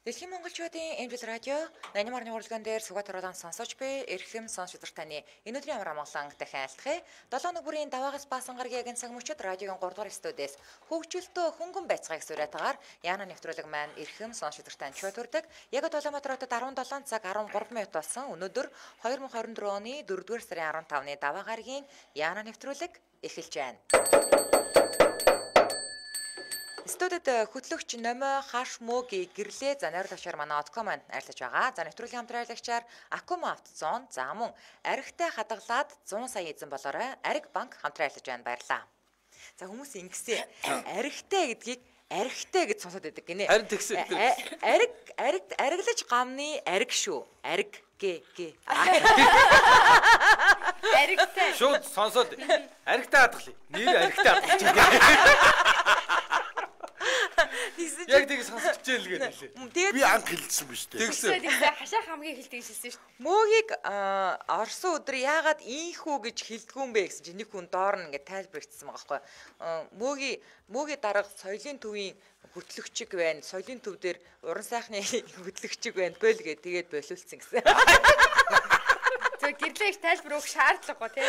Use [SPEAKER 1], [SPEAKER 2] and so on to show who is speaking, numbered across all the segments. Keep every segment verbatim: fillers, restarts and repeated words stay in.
[SPEAKER 1] Дэлхийн монголчуудын Эмжил радио найман марны урлаган дээр Сүгат оруулан сонсож буй эрхэм сонсогч таны энэ өдрийн амар амгалан дахин айлтгая. долоо өнөө бүрийн даваагаас баасан гаргийн цаг мөчид радиогийн гурав дахь студиэс хөгжөлтөө хөнгөн байцгааг сураатагаар Яна нэвтрүүлэг маань эрхэм сонсогч тань чөтөрдөг. Яг Улаанбаатар хотод арван долоо цаг арван гурав минут болсон. Өнөөдөр две тысячи двадцать четыре оны дөрөвдүгээр сарын арван тавны даваа гаргийн Яна нэвтрүүлэг эхэлж байна. Студид хөтлөгч Номой Хаш Мөгийн гэрлээ за найруулагчаар манай Отком маань арилж байгаа. За нэвтрүүлгийн хамтраалагчаар Акума автозон за мөн аригтай хадгалаад сто сая эзэн болоорой. Ариг банк хамтраа арилж байна. Баярлалаа. За хүмүүс ингэсэн аригтай гэдгийг аригтай гэж сонсоод байдаг гинэ.
[SPEAKER 2] Харин тэгсэн.
[SPEAKER 1] Ариг ариг ариглаж гамны ариг шүү. Ариг гэ гэ.
[SPEAKER 2] Аригтай. Шууд сонсоод аригтай хадгалъя. Нэр аригтай хадгалчих. Яг тийг сонсож ижил гэдэг.
[SPEAKER 3] Би анх хэлсэн биз дээ.
[SPEAKER 2] Тэгсэн.
[SPEAKER 4] Хашаа хамгийн хэлдэг хэлсэн шүү дээ.
[SPEAKER 1] Мөгийг орсон өдөр яагаад ийхүү гэж хэлдэггүй юм бэ гэсэн чинь нэг хүн доор нь ингээд тайлбар хийсэн байгаа байхгүй. Мөгийн мөгийн дарга соёлын төвийн хөтлөгчиг байна. Соёлын төв дээр уран сайхны хөтлөгчиг байна. Бөл гэ тэгээд болиулсан гэсэн.
[SPEAKER 4] Зөв гэрлэж тайлбар өгөх шаардлагагүй тий.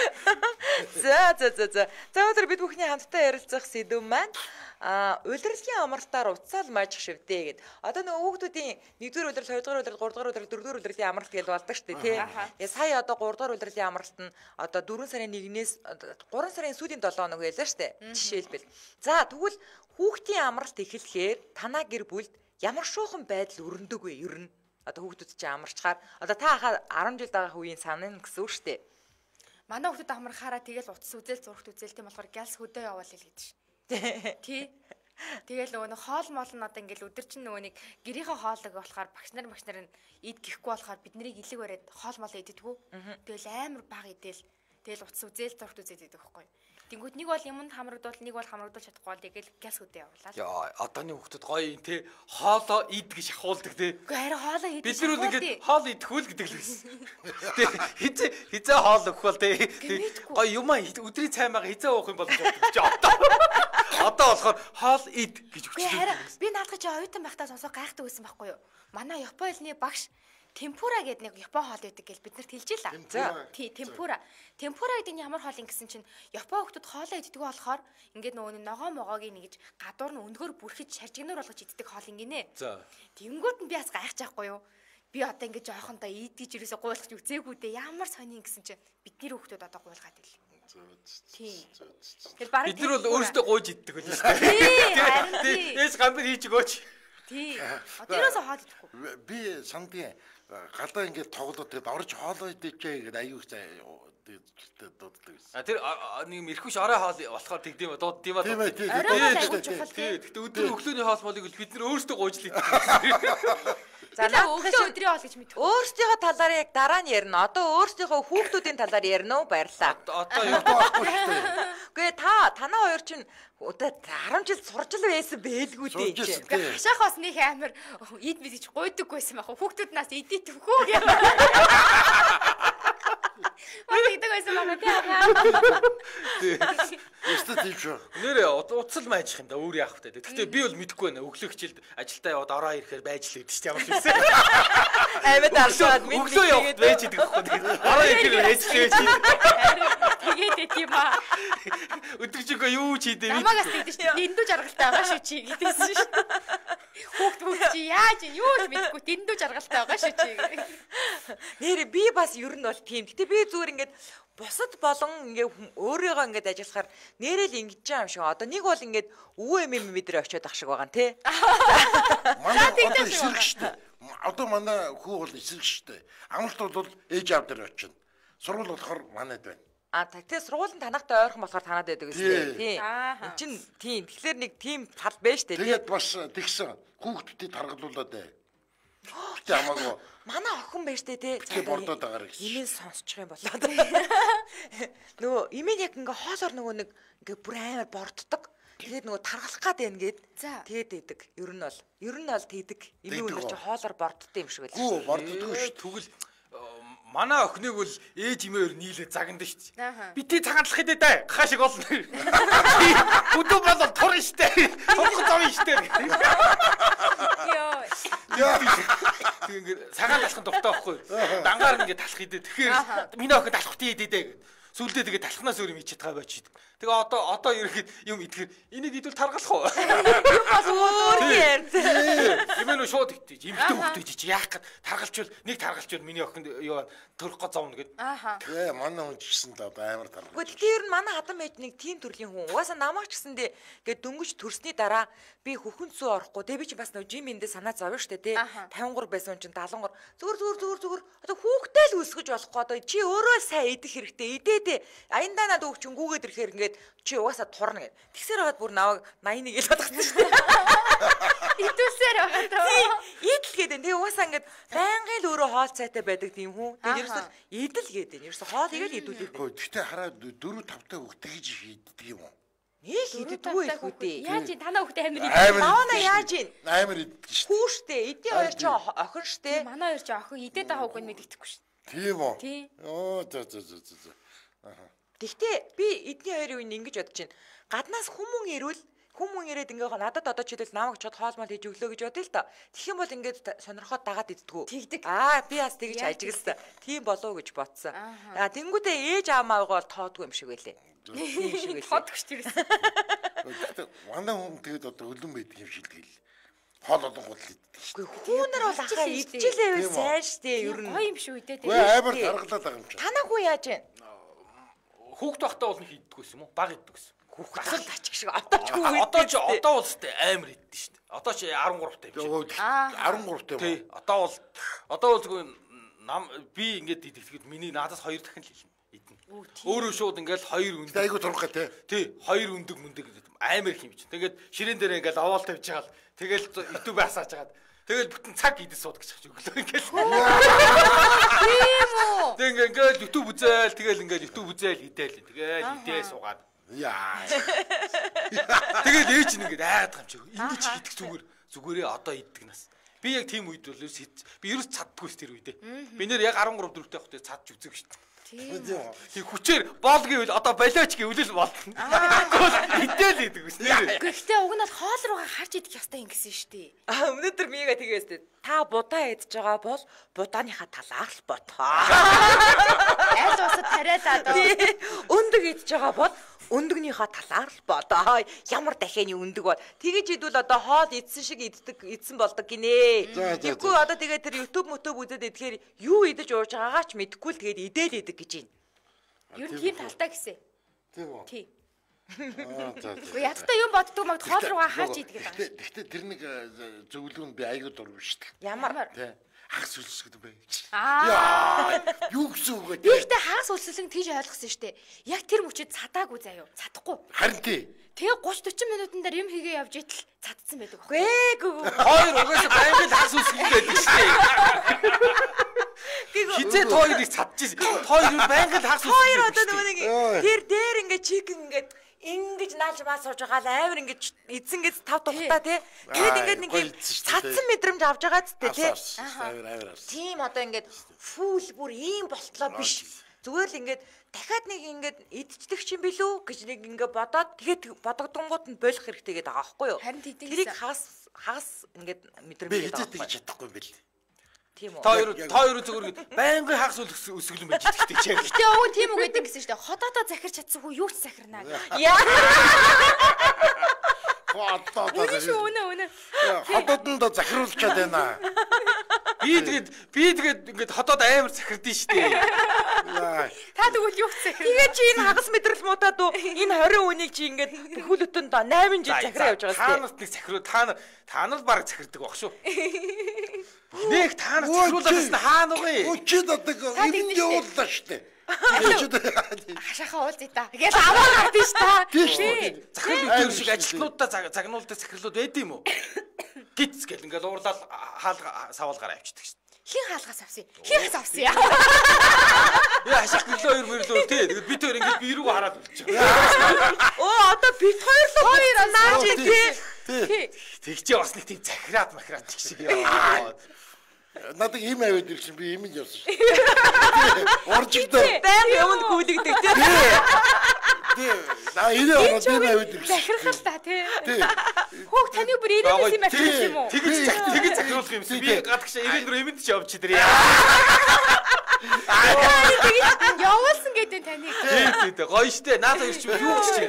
[SPEAKER 1] За за за за. За өнөөдөр бид бүхний хамтдаа ярилцах сэдв маань а улирлын амралтаар уцаал мажих шивдээ гэд. Одоо нөгөө хүүхдүүдийн нэгдүгээр улирал, хоёрдугаар улирал, гуравдугаар улирал, дөрөвдүгээр улирлын амралт гэж болдог шүү дээ тий. Яа сая одоо гуравдугаар улирлын амралт нь одоо дөрвөн сарын нэгнээс гурван сарын сүүлийн долоо хоног байлаа шүү дээ. Жишээлбэл. За тэгвэл хүүхдийн амралт эхлэхээр танаа гэр бүлд ямар шуухан байдал өрнөдөг вэ ер нь? Одоо хүүхдүүд чинь амарчхаар одоо та хаа арван жил байгаа үеийн санаа гэсэн үг шүү дээ.
[SPEAKER 4] Манай хүүхдүүд амархаараа тэгэл утас үзэл зургт үзэл тийм болохоор гялс хөдөө яваал л гэдэг ш. Тий. Тэгэл нөгөө хоол моол нь одоо ингээл өдөр чинь нөгөө нэг гэрийнхээ хоолыг болохоор багш нар багш нар нь ид гэхгүй болохоор бид нарыг илэг бариад хоол моол идэгдэггүй. Тэгэл амар баг идэл тэгэл утас үзэл зургт үзэл идэх байхгүй. Тэнгүүд нэг бол юмд хамрагдвал нэг бол хамрагдуулж чадахгүй тэгэл гялс хөдөө явуулаа.
[SPEAKER 2] Яа, одооны хүүхдүүд гоё юм те. Хоолоо ид гэж ахуулдаг те.
[SPEAKER 4] Үгүй харин хоолоо идэх.
[SPEAKER 2] Бид нар ингээд хоол идэхүүл гэдэг л байсан. Тэг хизээ хизээ хоол өгөх бол те. Гоё юм аа өдрийн цай мага хизээ уух юм бол чи одоо. Одоо болохоор хоол ид гэж өгч байна.
[SPEAKER 4] Би наадах чи оюутан байхдаа сонсоо гайхдаг байсан байхгүй юу? Манай Японы багш темпура гэдэг нэг Япон хоол байдаг гэж бид нарт хэлж илаа. За тий темпура. Темпура гэдэг нь ямар хоол юм гэсэн чинь Япон хүмүүс хоолоо иддэг болохоор ингээд нөгөө ногоо могоогийн нэгж гадуур нь өндгөр бүрхэж шаржигнаар болгож иддэг хоол ингэнэ. За. Тэнгүүд нь би бас гайхаж байхгүй юу? Би одоо ингээд жоохонтой идэж ирээсээ гуйлах үзээгүй дээ. Ямар сони гэсэн чинь бидний хүмүүс одоо гуйлгаад ил. Тий.
[SPEAKER 2] Бид нар бол өөрсдөө гуйж иддэг байлаа шүү дээ. Тий. Эс гамбар хийж өгөөч.
[SPEAKER 4] Тий. Одоо ерөөсөө хоол идэхгүй.
[SPEAKER 3] Би сандгийн галаа ингээд тоглоод тэгээд орж хоолоо идчихээ гэдэг аюу тэгээд дууддаг гэсэн.
[SPEAKER 2] А тэр нэг эрхвш орой хоол болохоор тэгдэм дууд тийм аа.
[SPEAKER 3] Тийм ээ тийм.
[SPEAKER 2] Тий. Тэгтээ өдөр өглөөний хоол молыг бид нар өөрсдөө гуйж л иддэг.
[SPEAKER 4] За өглөө өдрийн хоол гэж мэдв.
[SPEAKER 1] Өөрсдийнхөө талаар яг дараа нь ярина. Одоо өөрсдийнхөө хүүхдүүдийн талаар ярина уу? Баярлаа.
[SPEAKER 2] Одоо юу байхгүй шүү дээ.
[SPEAKER 1] Гүй та танаа хоёр чинь одоо арван жил сурч л байсан бэлгүй дээ чи.
[SPEAKER 4] Хашаах бас нэг амар ид бид гэж гойдоггүйсэн байх. Хүүхдүүд нас идэх төвхөө гэв. Маа идэг байсан байна тий.
[SPEAKER 3] Өстө тийм шүү.
[SPEAKER 2] Нэрээ уцал майжих юм да өөр яах вэ? Гэхдээ би бол мэдэхгүй байна. Өглөө хичээлд ажилдаа яваад ороо ирэхээр байж л идэв ч ямар ч юмсэн.
[SPEAKER 1] Аймад алшаад минь
[SPEAKER 2] өглөө яваад байж идэг байхгүй. Ороо ирэхээр байж л байж.
[SPEAKER 4] Тэгээд тийм аа.
[SPEAKER 2] Өдөржингөө юу ч хийдээ.
[SPEAKER 4] Намагаас тэгдэж чинь дэндүү жаргалтай байгаа шүү чи гэдээсэн шүү. Хүүхд хүүхд чи яаж юу ч мэдэхгүй дэндүү жаргалтай байгаа шүү чи.
[SPEAKER 1] Нэр би бас ер нь бол тийм. Гэтэ би зүгээр ингээд бусад болон ингээ өөрийгөө ингээд ажиллахаар нэрэл ингэж байгаа юм шиг. Одоо нэг бол ингээд өвөө эм эм мэдрээ очиод ах шиг байгаа тий.
[SPEAKER 3] Манай одоо эсрэг штэ. Одоо манай хүү бол эсрэг штэ. Амралт бол ээж аав дээр очино. Сургууль болохоор манайд байна.
[SPEAKER 1] А тэгтээ сургуулийн танахтай ойрхон болохоор танаад байдаг гэсэн тий. Энд чин тийм. Тэгэхээр нэг тийм тал байна штэ.
[SPEAKER 3] Тэгээд бас тэгсэн хүүхдүүдийг таргалуулаад бай. Тэ хамаагүй.
[SPEAKER 1] Манай охин байж тээ тий.
[SPEAKER 3] За бордоод агаар гэсэн.
[SPEAKER 1] Имэн сонсчих юм болоо. Нөгөө имэн яг ингээ хоолоор нөгөө нэг ингээ бүр амар борддог. Тэгээд нөгөө таргалах гад байна гээд. Тэгээд идэг. Ер нь бол ер нь бол тийдэг. Имэн өнөр чи хоолоор борддог юм шиг байл.
[SPEAKER 3] Гүү борддог шүү.
[SPEAKER 2] Тэгвэл Манай охиныг бол ээж имээр нийлээ загнад шүү
[SPEAKER 4] Ааха.
[SPEAKER 2] дээ. Би тий цагаандлах хэдэ даа. Гахаа шиг олно. Бүдүү бол турна шүү дээ. Турх зовно шүү дээ.
[SPEAKER 4] Йоо.
[SPEAKER 2] Тэгээд цагаан талхын дуртай байхгүй. Дангаар ингээд талах хэдэ. Тэгэхээр миний охин талах тий хэдэ даа. Сүлдээ тэгээд талхнаас өөр юм хийж чадгаа байж идэг. Тэгээ одоо одоо ерөөхдөө юм идэхээр энийг идвэл таргалах уу?
[SPEAKER 1] Юм бол өөр юм.
[SPEAKER 2] Юм нөө шууд итгэж, эмхтэй хөвгтэй чи яах гээд таргалчвал нэг таргалчвал миний охинд юу төрөх гоо зовно гэд.
[SPEAKER 4] Ааха.
[SPEAKER 3] Ээ манай хүн ч гэсэн л одоо амар таргал.
[SPEAKER 1] Гэхдээ тэр нь манай хатан байж нэг тийм төрлийн хүн. Угаасаа намайг ч гэсэндээ ингээд дөнгөж төрсний дараа би хөхөнцөө орохгүй. Тэгээ би чи бас нөө жим эндээ санаа зовё штэ тий. тавин гурав байсан хүн чинь даалгавар. Зүгээр зүгээр зүгээр зүгээр одоо хүүхдээ л өсгөж болохгүй. Одоо чи өөрөө сайн идэх хэрэгтэй. Идээдээ. Аяндаа надад өгчөнгүүгээд ирэхээр ингээд чи угаасаа турна гэд. Тэгсээр хаад бүр наваг восемь нэг ил бодгоцсон штэ.
[SPEAKER 4] Идүүлсээр байгаа даа.
[SPEAKER 1] Идэл гэдэг. Тэгээ угаасаа ингээд байнгын л өөрөө хоол цайтай байдаг тийм хүн. Тэгээ ерөөсөө идэл гэдэг. Ерөөсөө хоол игээл идүүлээд.
[SPEAKER 3] Гэхдээ хараа дөрөв тавтай хөвгтэй гэж хийдэг юм уу?
[SPEAKER 1] Нэг идэггүй их үдээ.
[SPEAKER 4] Яаж ин танаа хүүхдээ амир
[SPEAKER 3] Амар
[SPEAKER 1] Таана яаж ийн?
[SPEAKER 3] Амар иддэг шүү.
[SPEAKER 1] Хүү штэ. Эдийн хоёр ч охин штэ.
[SPEAKER 4] манай хоёр ч охин идээд байгаа хүүг нь мэддэхгүй шүү.
[SPEAKER 3] Тийм үү?
[SPEAKER 4] Тий.
[SPEAKER 3] Оо за за за за. Аха.
[SPEAKER 1] Гэхдээ би эдний хоёрын үеийн ингэж бодож байна. Гаднаас хүмүүн ирвэл хүмүүн ирээд ингээ надад одоо чидэл намайг чод хоолмол хийж өглөө гэж бодъё л доо. Тэгэх юм бол ингээд сонирхоод дагаад иддгүү.
[SPEAKER 4] Тэгдэг.
[SPEAKER 1] Аа би бас тэгж ажигласан. Тийм болов уу гэж бодсон. Аа тэнгүүдээ ээж аамаагаа бол тоодгүй юм шиг байлээ. Тийм шиг байлээ.
[SPEAKER 4] Тодгч тэрсэн.
[SPEAKER 3] Гэхдээ манай хүн тэгээд одоо өлөн байдаг юм шиг л гээл. Хоол олон гол иддэг шүү.
[SPEAKER 1] Хүүнэр бол ахаа идчихлээ вэ сайн штэ ер нь.
[SPEAKER 4] Гоё юм шүү дээ.
[SPEAKER 3] Үгүй амар таргалаад байгаа юм чинь.
[SPEAKER 1] Танаа хүү яаж вэ?
[SPEAKER 2] Хүүхд байхдаа бол нэг хийддэг гэсэн юм уу? Баг иддэг гэсэн.
[SPEAKER 1] Хүүхд асал тачих шиг одоо ч хүү
[SPEAKER 2] Одоо ч одоо бол өстэй амар иддэг шүү дээ. Одоо ч десять гуравтай юм шиг.
[SPEAKER 3] десять гуравтай
[SPEAKER 2] Тий.
[SPEAKER 3] юм.
[SPEAKER 2] Одоо бол одоо бол зөвхөн нам би ингээд идэхэд миний надаас хоёр дахин л хэлнэ. Идэнэ. Өөрөө шууд ингээд хоёр өндөг.
[SPEAKER 3] Айгу турхаа те.
[SPEAKER 2] Тий, хоёр өндөг мөндөг амар их юм чинь. Тэгээд ширээн дээр ингээд овоол тавьж байгаа л тэгэл YouTube асааж хагаад тэгэл бүтэн цаг идэж сууд гэж өглөө ингээд.
[SPEAKER 4] Тийм үү?
[SPEAKER 2] Тэг ингээд YouTube үзээл тэгэл ингээд YouTube үзээл идэл тэгэл идээ суугаад.
[SPEAKER 3] Яа.
[SPEAKER 2] Тэгэл ээж нь ингээд айгаад байгаа юм чи. Ингэж идэх зүгээр зүгээрээ одоо иддэг нас. Би яг тийм үед бол би ерөөс чаддгүй ш тэр үедээ. Би нэр яг десять гурав дөрөвтэй хөхтэй цадж үзэг ш.
[SPEAKER 3] Тийм.
[SPEAKER 2] Тэг хүчээр боол гэвэл одоо болооч гэвэл болно. Идэл идэг ус нэр.
[SPEAKER 4] Гэхдээ уг нь бол хоол руугаа харж идэх ёстой юм гэсэн шүү дээ.
[SPEAKER 1] Аа өнөөдөр мига тэгээстэй. Та будаа идж байгаа бол будааныхаа талаар л бодоо.
[SPEAKER 4] Аль усад тариалаа доо.
[SPEAKER 1] Өндөг идж байгаа бол өндөгнийхаа талаар л бодоо. Ямар дахианы өндөг бол тэгэж идвэл одоо хоол идсэн шиг иддэг идсэн болдог гинэ. Тэгвэл одоо тэгээ тэр YouTube мотөв үзээд идэхээр юу идэж ууж байгаагаа ч мэдэхгүй л тэгээд идэл идэг гэж байна.
[SPEAKER 4] Юу тийм талтай гэсэн.
[SPEAKER 3] Тийм үү?
[SPEAKER 4] Тий.
[SPEAKER 3] Аа за.
[SPEAKER 4] Уу ядтай юм боддог маг хоол руугаа харж идэх юм.
[SPEAKER 3] Гэхдээ тэр нэг зөвлөгөө би айгуу дургүй шүү дээ.
[SPEAKER 1] Ямар
[SPEAKER 3] Тий. Хагас үлсгэдэг бай.
[SPEAKER 4] Аа.
[SPEAKER 3] Юу гэсэн үг вэ?
[SPEAKER 4] Би ихтэй хагас үлсэлэн тийж ойлгосон шүү дээ. Яг тэр мөчөд цадаагүй заяа. Цадахгүй.
[SPEAKER 3] Харин тий.
[SPEAKER 4] Тэгээ тридцать forty минутын дээр юм хийгээ явж итэл цадсан байдаг аахгүй.
[SPEAKER 1] гээгүй.
[SPEAKER 2] Хоёр угаасаа байнгын хас үсгэн байдаг шүү дээ. Хизээ тоо ирийг цадчихсэн. Тоо ир байнгын хас үсгэн.
[SPEAKER 1] Хоёр одоо нөгөө нэг тэр дээр ингээ чикен ингээ ингэж наалж маа сууж байгаа л амар ингэж эзэн гэж тав тухтаа тий. Тэгээд ингээд нэг юм цадсан мэдрэмж авж байгаа зү тий.
[SPEAKER 3] Авир авир.
[SPEAKER 1] Тийм одоо ингээд фүүл бүр ийм болтлоо биш. Зүгээр л ингээд дахиад нэг ингээд идчихдэг юм билүү гэж нэг ингээд бодоод тэгээд бодогдонгууд нь болох хэрэгтэй гэдэг байгаа байхгүй юу?
[SPEAKER 4] Харин тийм
[SPEAKER 1] тэрийг хагас хагас ингээд мэдрэмж
[SPEAKER 3] Би
[SPEAKER 1] гэдэг
[SPEAKER 3] хэзээ
[SPEAKER 1] байгаа.
[SPEAKER 3] тэгж чадахгүй юм бэл.
[SPEAKER 1] Тийм үү?
[SPEAKER 2] Та хоёр та хоёр зүгээр байнгын хагас үсгэлэн байж идэх гэж яг.
[SPEAKER 4] Гэтэ өвөн тийм үг гэдэг гэсэн шүү дээ. Хотоодоо захирч чадсан хүү юу ч захирнаа.
[SPEAKER 1] Яа.
[SPEAKER 3] Хотоо
[SPEAKER 4] Үнэ шүү үнэ үнэ.
[SPEAKER 3] хотоодонд захируулчаад байна.
[SPEAKER 2] Би тэгээд би тэгээд ингээд хотоод амар захирдэн шүү дээ.
[SPEAKER 4] Та тэгвэл юу ч захирнаа.
[SPEAKER 1] Тэгээ чи энэ хагас мэдрэл муудаад уу энэ тwenty үнийг чи ингээд хөлөтөнд eight жил захираа явж байгаа
[SPEAKER 2] Та нарт нэг захируу та нар та нар баг захирдаг баг шүү. Нэг та нар захируулаад та хаана уу?
[SPEAKER 3] Өчид одаг энэ явууллаа шүү дээ.
[SPEAKER 4] Хашаахаа уулзъя та. Гэж аваад авдсан ш та.
[SPEAKER 3] Тийм.
[SPEAKER 2] Захирал өдөр шиг ажилтнуудаа загнуулдаг захирлууд байд юм уу? Гиц гэл ингээд уурлал хаалга савуулгаар авчдаг шүү.
[SPEAKER 4] Хин хаалгаас авсан. Хин хас авсан яа.
[SPEAKER 2] Яа хашаах гэлөө хоёр мэрлөө тий. Тэгээд бид хоёр ингээд би рүү хараад үлч.
[SPEAKER 1] Оо одоо бит хоёр л хоёр нааж тий.
[SPEAKER 2] Тэгчээ бас нэг тийм захираад махираад ч шиг яа.
[SPEAKER 3] Надад ийм аваад ирсэн би ийм нь явсан шүү. Оржигдоо.
[SPEAKER 1] Баян юмд гүйлэгдэг тийм.
[SPEAKER 3] Тий. Аа энэ ороод ийм аваад ирсэн.
[SPEAKER 4] Захирхал та тий. Хүүг таны бүр ирээдээс юм авчих юм уу?
[SPEAKER 2] Тэгэж тэгэж захируулах юмсан. Би гадагш ирээл рүү эмэнд ч явж чи тэр.
[SPEAKER 4] Тэгэж явуулсан гэдэг таны.
[SPEAKER 2] Тий, тий, гоё штэ. Наад хоёр ч юу ч чи.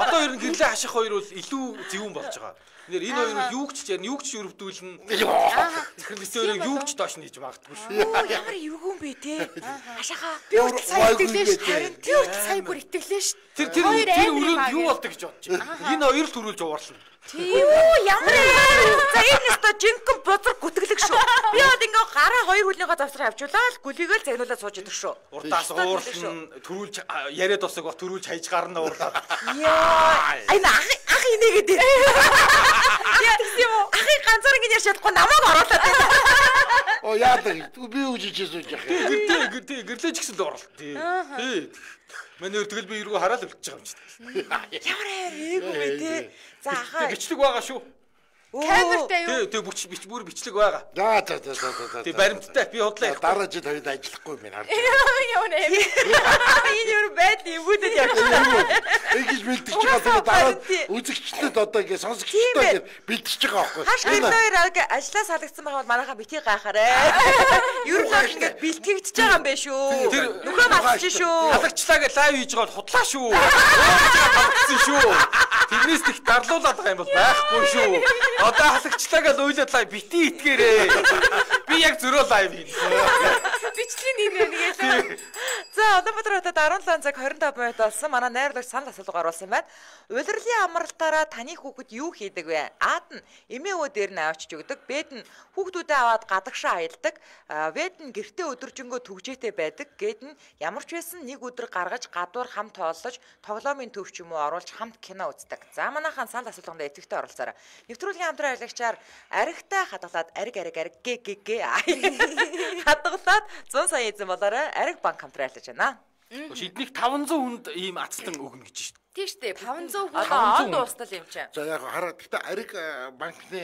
[SPEAKER 2] Одоо ер нь гэрлээ хаших хоёр бол илүү зөвүүн болж байгаа. Нэр энэ хоёр нь юу ч чинь юу ч өрөвдүүлнэ. Захир бисээр юу ч доош нь хийж магадгүй шүү.
[SPEAKER 1] Оо ямар эвгүй юм бэ те. Хашаага.
[SPEAKER 4] Би үртэл сая итгэлээ шүү. Би үртэл сая бүр итгэлээ шүү.
[SPEAKER 2] Тэр тэр тэр өрөөнд юу болдог гэж бодож байна. Энэ хоёр л төрүүлж уурлаа.
[SPEAKER 1] Тийм үү ямар за энэ өстө жинхэнэ бузар гүтгэлэг шүү. Би бол ингээ гараа хоёр хүлнийхөө завсраа авчуулаад гүлийгээл загнуулаад сууж идэх шүү.
[SPEAKER 2] Урдаас уурлан төрүүлж яриад усаг ба төрүүлж хайж гарна уурлаад.
[SPEAKER 1] Яа энэ ах ах инээгээд яа тийм үү ахыг ганцаар ингэ ярьж чадахгүй намайг оруулаад байна.
[SPEAKER 3] Оо яадаг би үжиж сууж яах юм.
[SPEAKER 2] Гэртээ гэртээ гэрлэж гисэн л орлоо. Тий. Манай тэгэл би эргүү хараад өвлөж байгаа юм чи.
[SPEAKER 1] Ямар эвгүй бэ те. За хаа
[SPEAKER 2] бичлэг байгаа шүү.
[SPEAKER 4] Камертай юу?
[SPEAKER 2] Тий, тий бүч бич бүр бичлэг байгаа.
[SPEAKER 3] За за за за за.
[SPEAKER 2] Тий баримттай би худлаа.
[SPEAKER 3] Дараа жил хоёрд ажиллахгүй юм харж.
[SPEAKER 4] Яа нэ.
[SPEAKER 1] энэ юу байд эвгүүдэд явчихсан.
[SPEAKER 3] Ингэж бэлдэж байгаа дараа үзэгчлээд одоо ингэ сонсогчтой ингэ бэлдэж байгаа байхгүй.
[SPEAKER 1] Хаш гэрээр ажлаа салгацсан байгаа бол манайхаа битгий гайхаарэ. Ер нь ингэ бэлтгэгдэж байгаа юм бэ шүү. Тэр нөхөө басч шүү.
[SPEAKER 2] Халагчлаа гэж лайв хийж байгаа худлаа шүү. Халагдсан шүү. Тэрнээс их дарлуулаад байгаа юм бол байхгүй шүү. Одоо халагчлаа гэж уйлаад лайв бити итгээрээ. Би яг зөрөө лайв хийн.
[SPEAKER 4] Бичлэг нэр нэгээ.
[SPEAKER 1] За одоо өдрөд арван лан цаг двадцать пять минут болсон. Манай найруулагч санал асуулга оруулсан байна. Улирлын амралтаараа таны хүүхэд юу хийдэг вэ? Аад нь эмээ өвөө дээр нь авчиж өгдөг. Бэд нь хүүхдүүдээ аваад гадагшаа аялдаг. Вэд нь гэртээ өдөржингөө түгжээтэй байдаг. Гэд нь ямар ч байсан нэг өдөр гаргаж гадуур хамт тооллож, тоглоомын төв ч юм уу оруулж хамт кино үздэг. За манайхан санал асуулганд эцэгтэй оролцоорой. Нэвтрүүлгийн хамтран ажиллагчаар аригтай хадгалаад ариг ариг ариг гэ гэ гэ хадгалаад зуун сая эзэн болоорой. Ариг банк хамтран ажиллаж байна.
[SPEAKER 2] Шиднийг таван зуун хүнд ийм ацлан өгнө гэж шүү.
[SPEAKER 1] Тийм шүү дээ. таван зуун хүн одоо он дуустал юм чинь.
[SPEAKER 3] За яг хараа гэхдээ ариг банкны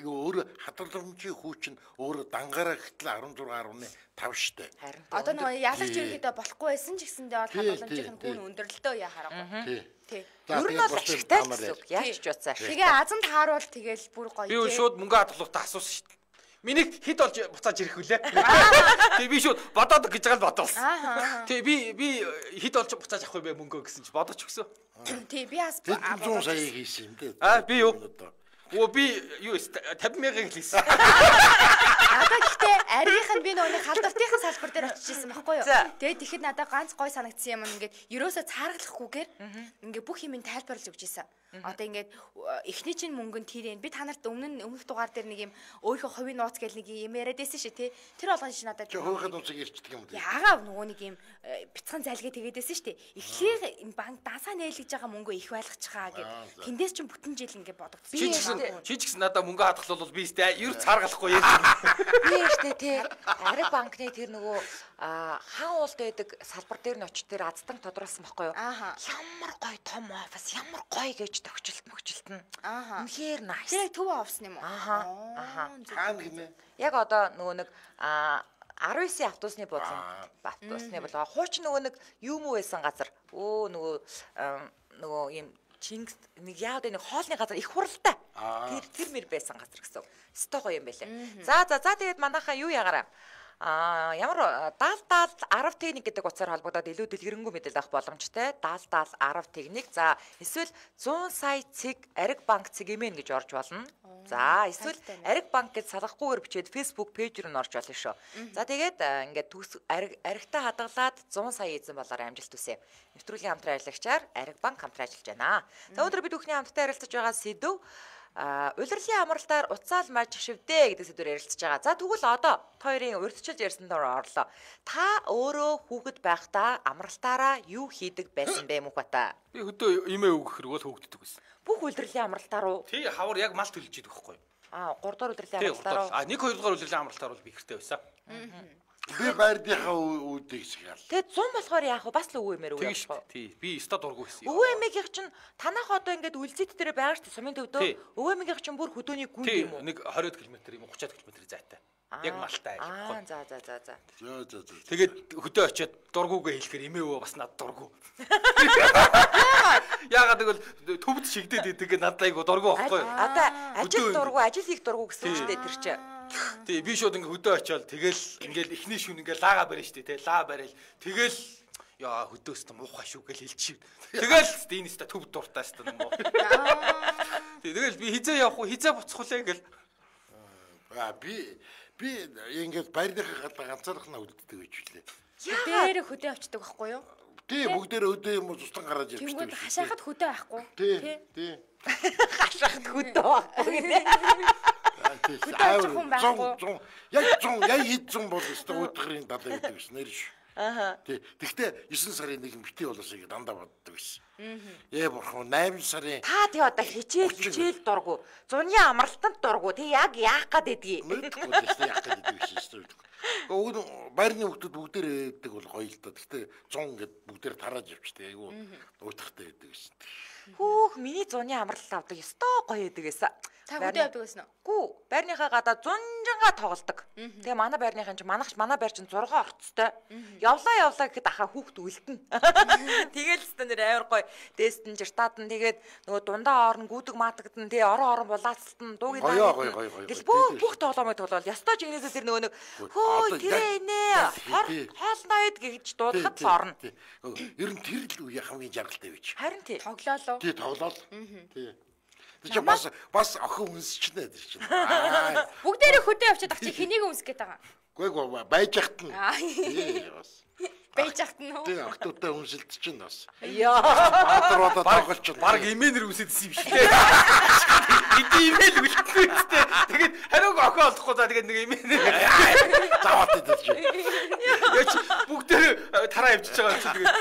[SPEAKER 3] өөр хадгаламжийн хүч нь өөр дангаараа гэтэл арван зургаан гаруй тав шүү дээ.
[SPEAKER 4] Одоо нөгөө ялагч ерөөдөө болохгүй байсан ч гэсэндээ бол хадгаламжийн хүн өндөрлөлтөө яа харахгүй. Тий.
[SPEAKER 1] Ер нь бол ашигтай гэсэн үг. Яаж ч утсаа.
[SPEAKER 4] Тэгээ азанд хааруул тэгэл бүр гоё.
[SPEAKER 2] Би шууд мөнгө хадгалахтаа асуусан шүү дээ. Миний хит болж буцааж ирэх үлээ. Тэгээ би шууд бодоод гэж байгаа л бодоолсон. Тэгээ би би хит болж буцааж авах юм бэ мөнгөө гэсэн чи бодож өгсөн.
[SPEAKER 4] Тий би бас
[SPEAKER 3] цуун сая хийсэн юм дээ.
[SPEAKER 2] Аа би юу? Оо би юу тавин мянган хэлсэн.
[SPEAKER 4] Одоо гэхдээ аригийнх нь би нөгөө халдвартын салбар дээр очижсэн байхгүй юу? Тэгээд тэгэхэд надад ганц гой санагдсан юм ингээд ерөөсө цааргалахгүйгээр ингээд бүх юмыг тайлбарлаж өгч ийсэн. Одоо ингээд эхний чинь мөнгө нь тэр юм. Би та нарт өмнө өмнөх дугаар дээр нэг юм өөрийнхөө хувийн нууц гэл нэг юм яриад байсан шүү тий. Тэр болгон шин надад
[SPEAKER 3] хөөхөд нууцыг ирчдэг юм уу?
[SPEAKER 4] Яагаад нөгөө нэг юм бяцхан залгээ тэгээд байсан шүү дээ. Эхлээ энэ банк дасаа нээлгэж байгаа мөнгөө их байлгачихаа гэх. Тэндээс чинь бүтэн жил ингээд бодогдсон.
[SPEAKER 2] Чи ч гэсэн надаа мөнгө хадгалвал би сте ер цааргалахгүй юм.
[SPEAKER 1] Би штэ тий. Ариг банкны тэр нөгөө хаан уулд байдаг салбар дээр нь очиж тэр аздан тодруулсан байхгүй юу? Ямар гоё том офис, ямар гоё гэж төгчлөлт мөгчлөлт нь. Үнэхээр nice.
[SPEAKER 4] Тэр төв офис юм уу?
[SPEAKER 1] Аха. Аха.
[SPEAKER 3] Хаан гинэ.
[SPEAKER 1] Яг одоо нөгөө нэг арван девятын автобусны бодлон автобусны бодлого хууч нөгөө нэг юм уу байсан газар. Өө нөгөө нөгөө юм Чингис нэг яад нэг хоолны газар их хуралтай. Тэр тэр мэр байсан газар гэсэн. Сто гоё юм байлээ. За за за тэгээд манайхаа юу ягаараа А ямар даал даал арав техник гэдэг утсаар холбогдоод илүү дэлгэрэнгүй мэдээлэл авах боломжтой. Даал даал арав техник. За эсвэл зуун сая цэг ариг банк цэгэмэн гэж орж болно. За эсвэл ариг банк гэж салгахгүйгээр бичээд Facebook пэйж рүү н орж болно шүү. За тэгээд ингээд ариг аригтай хадгалаад зуун сая эзэн болоор амжилт хүсье. Нэвтрүүлгийн хамтран ажиллагчаар ариг банк хамтран ажиллаж байна. За өнөөдөр бид бүхний хамтдаа ярилцаж байгаа сэдв А улирлын амралтаар уцаал маж шивдэ гэдэг сэдвээр ярилцж байгаа. За тэгвэл одоо хоёрын урьдчилж ярьсан дор орлоо. Та өөрөө хүүхэд байхдаа амралтаараа юу хийдэг байсан бэ Мухбата?
[SPEAKER 2] Би хөдөө имээ өгөх хэрэг бол хөөгддөг байсан.
[SPEAKER 1] Бүх улирлын амралтаар уу?
[SPEAKER 2] Тий, хавар яг мал төлж идэг байхгүй юу?
[SPEAKER 1] Аа, гурав дахь улирлын амралтаар уу?
[SPEAKER 2] А нэг хоёр дахь улирлын амралтаар бол би ихтэй байсан.
[SPEAKER 3] Би байрныхаа үүдийг сгал.
[SPEAKER 1] Тэгээд зун болохоор яах вэ? Бас л өвөө эмээр
[SPEAKER 2] Тийм
[SPEAKER 1] үе
[SPEAKER 2] шүү. Тий. Би ста дургу гэсэн.
[SPEAKER 1] Өвөө эмээгийнх чинь танах одоо ингээд үлзийт дээр байгаа шүү дээ. Сумын төвдөө. Өвөө эмээгийнх чинь бүр хөдөөний гүн юм уу?
[SPEAKER 2] Нэг двадцать км юм уу тридцать км зайтай. Яг малтай
[SPEAKER 1] аа за за за за.
[SPEAKER 3] За за за.
[SPEAKER 2] Тэгээд хөдөө очиод дургуугаа хэлэхээр эмээ өвөө бас над дургу. Яагаад гэвэл төвд шигдээд идэг надад айгу дургу байхгүй.
[SPEAKER 1] Одоо ажил дургу, ажил хийх дургу гэсэн үг дээ тэр чинь.
[SPEAKER 2] Тий, би шууд ингээ хөдөө очиод тэгэл ингээл эхний шүн ингээ лаага барина штэ тий, лаа барил. Тэгэл яа хөдөөс та муухай шүү гэл хэлчих. Тэгэл энэ ста төв дуртай ста юм уу. Тий, тэгэл би хизээ явах уу, хизээ буцах уу гэл.
[SPEAKER 3] Аа би би ингээд байрныхаа гадаа ганцаархнаа үлддэг гэж хэлээ.
[SPEAKER 4] Дээр хөдөө очдөг байхгүй юу?
[SPEAKER 3] Тий, бүгдээр өдөө юм уу тусдан гараад явчихдаг.
[SPEAKER 4] Тэнгүүд хашаахад хөдөө байхгүй.
[SPEAKER 3] Тий, тий.
[SPEAKER 1] Хашаахад хөдөө байхгүй нэ.
[SPEAKER 3] Зун яг зун яг хэд зун бол өстө өдрийн далай гэдэг гэсэн нэр ш.
[SPEAKER 1] Аха.
[SPEAKER 3] Тий. Тэгтээ нine сарын нэг битий болоосыг дандаа боддог байсан. Ээ бурхан eight сарын
[SPEAKER 1] Та тий одоо хичээл хичээл дургу. Зуны амралтанд дургу. Тий яг яах гээд байдгийг.
[SPEAKER 3] мэдгүй л яах гэдэг байсан шүү дээ. Өөг байрны хүмүүс бүгдээр ээдэг бол гоё л доо. Тэгтээ зун гэд бүгдээр тарааж явчихдээ айгу уутахтай байдаг гэсэн.
[SPEAKER 1] Хүүх миний зуны амралт авдаг ёстой гоё байдаг гэсэн.
[SPEAKER 4] Та хөдөө явдаг байсан уу?
[SPEAKER 1] Гүү, байрныхаа гадаа зунжанга тоглодог. Тэгээ манай байрныхын чинь манайх манай байр чинь зураг орцтой. Явлаа явлаа гэхэд ахаа хүүхд үлдэнэ. Тэгэл өстө нэр амар гоё. Дээстэн жиртаад нь тэгээд нөгөө дундаа орон гүдэг маатагдсан тэгээ орон орон булаацтан дуугийн
[SPEAKER 3] Гоё, гоё, гоё, гоё.
[SPEAKER 1] Гэл бүх бүх тоглоомыг тоглол. Ястой ч инээсээ тэр нөгөө нэг хөө тэрэ нэ хоолнойд гэж дуудахад л орно.
[SPEAKER 3] Ер нь тэр л үе хамгийн жаргалтай байж.
[SPEAKER 1] Харин тий.
[SPEAKER 4] Тоглоолоо.
[SPEAKER 3] Тий тоглоол. Тий. Тэр чинь бас бас охин үнсчнэ тэр чинь.
[SPEAKER 4] Бүгдээрээ хөдөө явчихад ах чи хэнийг үнсэх гээд байгаа.
[SPEAKER 3] Гүй гүй байж яхад нь. Тий бас.
[SPEAKER 4] Байж яхад нь.
[SPEAKER 3] Тий охтуудтай үнсэлт чинь бас.
[SPEAKER 1] Яа.
[SPEAKER 3] Баатар бодоо тоглолч.
[SPEAKER 2] Баг имэнэр үсэдсэн юм шиг лээ. Эдийн имэйл үлдсэн үстэй. Тэгээд хариуг охин олохгүй за тэгээд нэг имэнэр
[SPEAKER 3] Заваад идэж.
[SPEAKER 2] яач бүгдээр тараа явчихж байгаа юм чи тэгээд.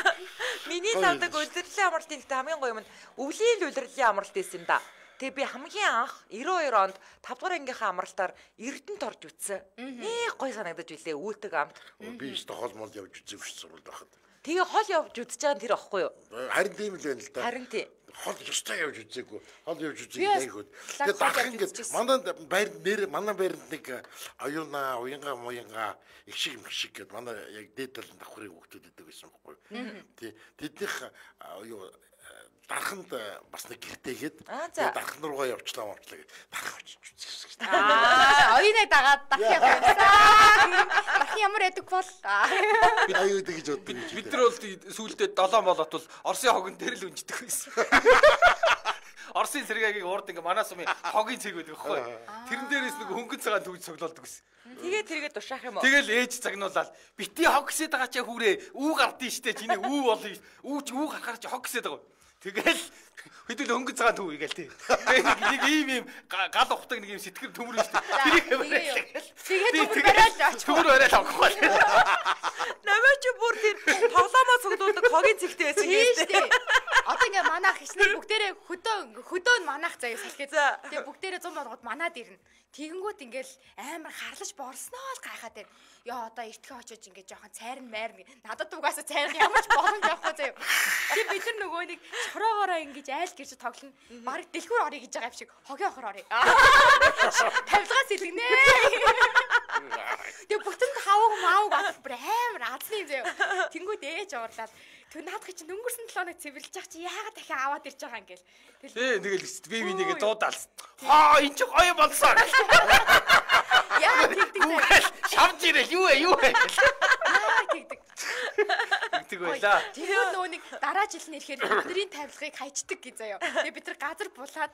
[SPEAKER 1] Миний завдаг улирлын амралтын ихтэй хамгийн гоё юм нь өвлийн улирлын амралт байсан юм да. Тэгээ би хамгийн анх ninety two онд five дугаар ангийнхаа амралтаар Эрдэнэт орж үтсэн. Нэг гоё санагдаж билээ үүлдэг амт.
[SPEAKER 3] Би ч хол мол явж үзээгүй ш сурвал байхад.
[SPEAKER 1] Тэгээ хол явж үзэж байгаа тэр ихгүй юу?
[SPEAKER 3] Харин тийм л байна л да.
[SPEAKER 1] Харин тий.
[SPEAKER 3] Хол ёстой явж үзээгүй. Хол явж үзээгүй айгууд. Тэгээ дахин ингээд манай байр нэр манай байранд нэг аюуна, уянга, муянга их шиг их шиг гэд манай яг дээд талын давхрын хүүхдүүд идэг байсан байхгүй юу? Тий. Тэднийх юу дарханд бас нэг гэртээгээд дархан руугаа явчлаа мовчлаа гэж дарах очиж үзсэн.
[SPEAKER 4] Аа, оюунаа дагаад дахин явсан. Дахин ямар яадаг бол.
[SPEAKER 3] Би аюу гэж боддог.
[SPEAKER 2] Бид нар бол сүүлдээ долоон болоод бол Оросын хогон дээр л үнждэг байсан. Оросын сэргээгийг урд ингээ манай сумын хогийн цэг байдаг байхгүй. Тэрэн дээрээс нэг хөнгөн цагаан төгж цоглолдог байсан.
[SPEAKER 1] Тэгээ тэргээ душаах юм уу?
[SPEAKER 2] Тэгэл ээж цагнуулаад бити хог гэсэд байгаа чи хүрээ үү гардыг штэ чиний үү болно үү ч үү гарахаар чи хог гэсэд байгаа. Тэгэл хэдүүл хөнгөн цагаан төв игээл тий. Нэг ийм ийм гал ухдаг нэг ийм сэтгэр төмөр штэ.
[SPEAKER 4] Тэгээ төмөр бариад очих.
[SPEAKER 2] Төмөр бариад авахгүй.
[SPEAKER 1] Намаа чи бүр тэр тоглоомоо цуглуулдаг хогийн цэгтэй байсан
[SPEAKER 4] гэдэг. Одоо ингээ манайх хичнээн бүгдээрээ хөдөө хөдөө нь манайх заяа салхиад. Тэгээ бүгдээрээ зам болгоод манаад ирнэ. Тэгэнгүүт ингээл амар харлаж борсноо л гайхаад байна. Яа одоо эртхээ очиж ингээ жоохон цайрн майрн надад угаасаа цайрн ямар ч боломж авахгүй заяа. Тэг бид нар нөгөө нэг чороогоороо ингэж айл гэрч тоглоно. Бараг дэлгүүр орё гэж байгаа юм шиг хогийн охор орё. Тавилгаас илгнэ. Тэг бүтэн хавг маав гал бүр амар азны заяа. Тэнгүүд ээж уурлаад тэр наадах чинь өнгөрсөн seven хоног цэвэрлж яах чи яагаад дахин аваад ирж байгаа юм гээл.
[SPEAKER 2] Тий тэгэл би би нэгэ дуудаал. Хаа энэ ч гоё болсон.
[SPEAKER 4] Яа тэгдэг.
[SPEAKER 2] Шавж ирэл юу вэ юу вэ.
[SPEAKER 4] Яа тэгдэг.
[SPEAKER 2] Тэгдэг байлаа.
[SPEAKER 4] Тэгэхээр нөгөө нэг дараа жил нь ирэхээр бидний тавилгыг хайчдаг гэж заяа. Тэгээ бид нар газар булаад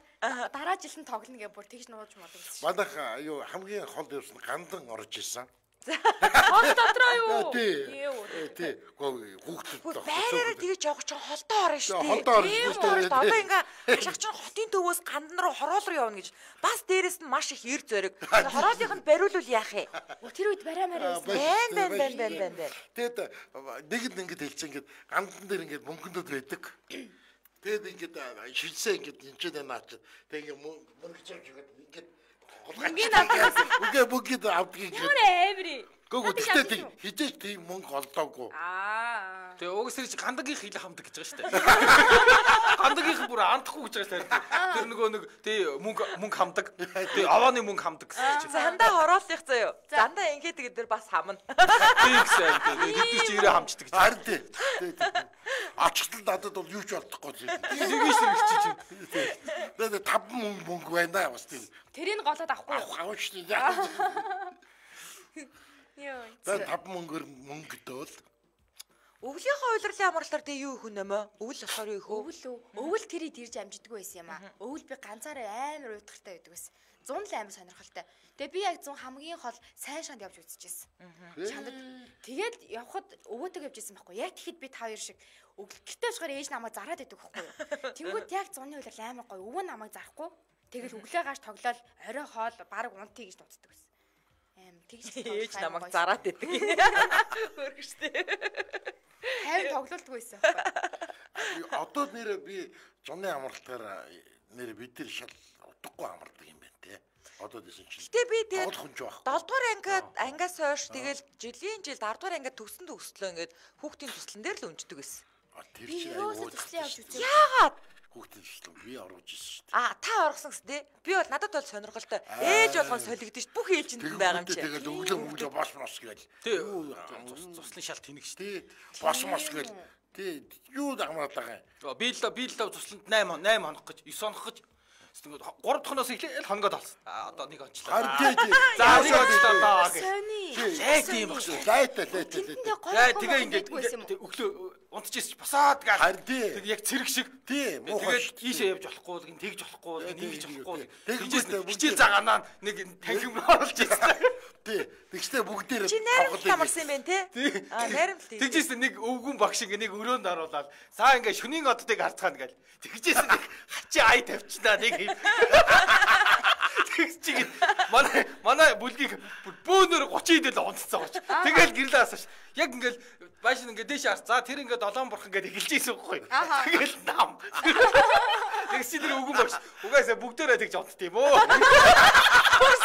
[SPEAKER 4] дараа жил нь тоглоно гэж бүр тэгж нууж мод гэсэн.
[SPEAKER 3] Манайх юу хамгийн хол явсан гандан орж исэн.
[SPEAKER 4] Хол дотроо юу?
[SPEAKER 3] Тий. Тий. Хүүхдүүд
[SPEAKER 1] байраараа тэгэж явах чинь холдоо орно шүү дээ.
[SPEAKER 3] Холдоо орно шүү дээ.
[SPEAKER 1] Одоо ингээ хашаач чинь хотын төвөөс гандан руу хороол руу явна гэж. Бас дээрэс нь маш их эр зөрөг. Хороолынх нь бариулвал яах вэ?
[SPEAKER 4] Тэр үед барай мараа байсан.
[SPEAKER 1] Бэн бэн бэн бэн бэн бэн.
[SPEAKER 3] Тэгэд нэг л ингэж хэлсэн ингээд гандан дээр ингээд мөнгөндүүд байдаг. Тэгэд ингээд шилсээ ингээд энчээд наач. Тэг ингээд мөнгө чавж ингээд ингээд
[SPEAKER 4] Ингээд авдаг.
[SPEAKER 3] Үгүй бүгд авдаг.
[SPEAKER 4] Ямар эври.
[SPEAKER 3] Гүг гэхдээ хизээж тийм мөнгө олдоогүй.
[SPEAKER 4] Аа.
[SPEAKER 2] Тэгээ угс тэр гандагийн хилэ хамдаг гэж байгаа шүү дээ. Гандагийн бүр андахгүй гэж байгаа шүү дээ. Тэр нөгөө нэг тий мөнгө мөнгө хамдаг. Тий авааны мөнгө хамдаг гэсэн чинь.
[SPEAKER 1] Зандаа хорооллих заяа. Зандаа ингээд тэгээд тэр бас хамна.
[SPEAKER 2] Тий гэсэн. Хэдий ч ирээ хамждаг гэж.
[SPEAKER 3] Харин тий. Ачтал надад бол юу ч олдохгүй юм.
[SPEAKER 2] Тэгэж тэр их чинь.
[SPEAKER 3] Тэгээд таван мөнгө мөнгө байна бас тийм.
[SPEAKER 4] Тэрийг голоод авахгүй.
[SPEAKER 3] Авах шүү дээ.
[SPEAKER 4] Йоо.
[SPEAKER 3] Тэгээд таван мөнгөөр мөнгө дөөл.
[SPEAKER 1] Өвлийнхөө удирлын амралтаар тэг юу их нэмэ? Өвл болохоор юу их вэ?
[SPEAKER 4] Өвөл үү? Өвөл тэрийг ирж амжидгүй байсан юм аа. Өвөл би ганцаараа амар уйдгартай байдаг байсан. зуун л амар сонирхолтой. Тэгээ би яг зуун хамгийн хол сайн шанд явж үзчихсэн. Чандад тэгээд явхад өвөөтэйг явж ирсэн байхгүй. Яг тэгэхэд би тав хоёр шиг өглөлттэй болохоор ээж намайг зараад идэг байхгүй юу. Тэнгүүд яг зууны удирал амар гоё. Өвөө намайг зарахгүй. Тэгэл өглөө гаш тоглоод орой хоол баг унтъя гэж дууддаг байсан. Аим тэгж
[SPEAKER 1] ээж намайг зараад идэг. Хөргөштэй.
[SPEAKER 4] Хайр тоглолтгүй байсан байхгүй.
[SPEAKER 3] Одоо нэр би зуны амралтаар нэр бид нар шал утгагүй амардаг юм байна те. Одоо дэсэн чинь.
[SPEAKER 1] Гэтэ би тэгээд
[SPEAKER 3] долдугаар
[SPEAKER 1] ангиад ангиас хойш тэгэл жилийн жилд дөрөв дугаар ангиад төгсөн төгслөө ингээд хүүхдийн төслөн дээр л өнждөг байсан.
[SPEAKER 3] Тэр
[SPEAKER 4] Би
[SPEAKER 3] чинь
[SPEAKER 4] юусоо төслийн явж үзээ.
[SPEAKER 1] Яагаад?
[SPEAKER 3] хүүхдийн төслөө би оруулж ирсэн шүү дээ.
[SPEAKER 1] А та оргосон гэс тээ. Би бол надад бол сонирхолтой. Ээж болгон солигдсон ш. Бүх ээлжинд байгаа юм чи.
[SPEAKER 3] Тэгээд өглөө өглөө бос мос гээл.
[SPEAKER 2] Тий. Цуслын шал тэнэг шүү дээ.
[SPEAKER 3] Тий. Бос мос гээл. Тий. Юу дагмаад байгаа юм.
[SPEAKER 2] Би л би л цусланд восемь восемь хоног гэж девять хоног гэж тэгвэл гурав дахь хоногоос эхлээл хоногод болсон. А одоо нэг онцлоо.
[SPEAKER 3] Харин тий тий.
[SPEAKER 2] За нэг онцлоо даа гэж.
[SPEAKER 4] Сони.
[SPEAKER 2] Лайт юм багш.
[SPEAKER 3] Лайт лайт.
[SPEAKER 2] Яа тэгээ ингээд өглөө унтчихсэн босоод гал.
[SPEAKER 3] Харин тий.
[SPEAKER 2] Тэг яг цэрэг шиг.
[SPEAKER 3] Тий.
[SPEAKER 2] Тэгээд ийшээ явж болохгүй л гин тэгж болохгүй л гин нэгж болохгүй.
[SPEAKER 3] Тэгжээс
[SPEAKER 2] хичээл загаанаа нэг танхим оруулж ирсэн.
[SPEAKER 3] Тий. Тэгстэй бүгдээрээ
[SPEAKER 1] Чи найрамд амарсан юм байна те. А найрамд тий.
[SPEAKER 2] Тэгжээс нэг өвгөн багш ингээ нэг өрөөнд оруулаад саа ингээ шөнийн оддыг харцгаана гэл. Тэгжээс нэг хачи ай тавьчихнаа нэг юм. Тэгс чигэд манай манай бүлгийг бөөнөр тридцать идэл унтцсан гоч. Тэгэл гэрлээ асууш. Яг ингээл бааш ингээ дээш харц. За тэр ингээ долоон бурхан гэдэг эхэлж ийсэн үгүй. Тэгэл нам. Тэгс чи тэр өвгөн багш. Угаасаа бүгдээрээ тэгж унтд юм уу?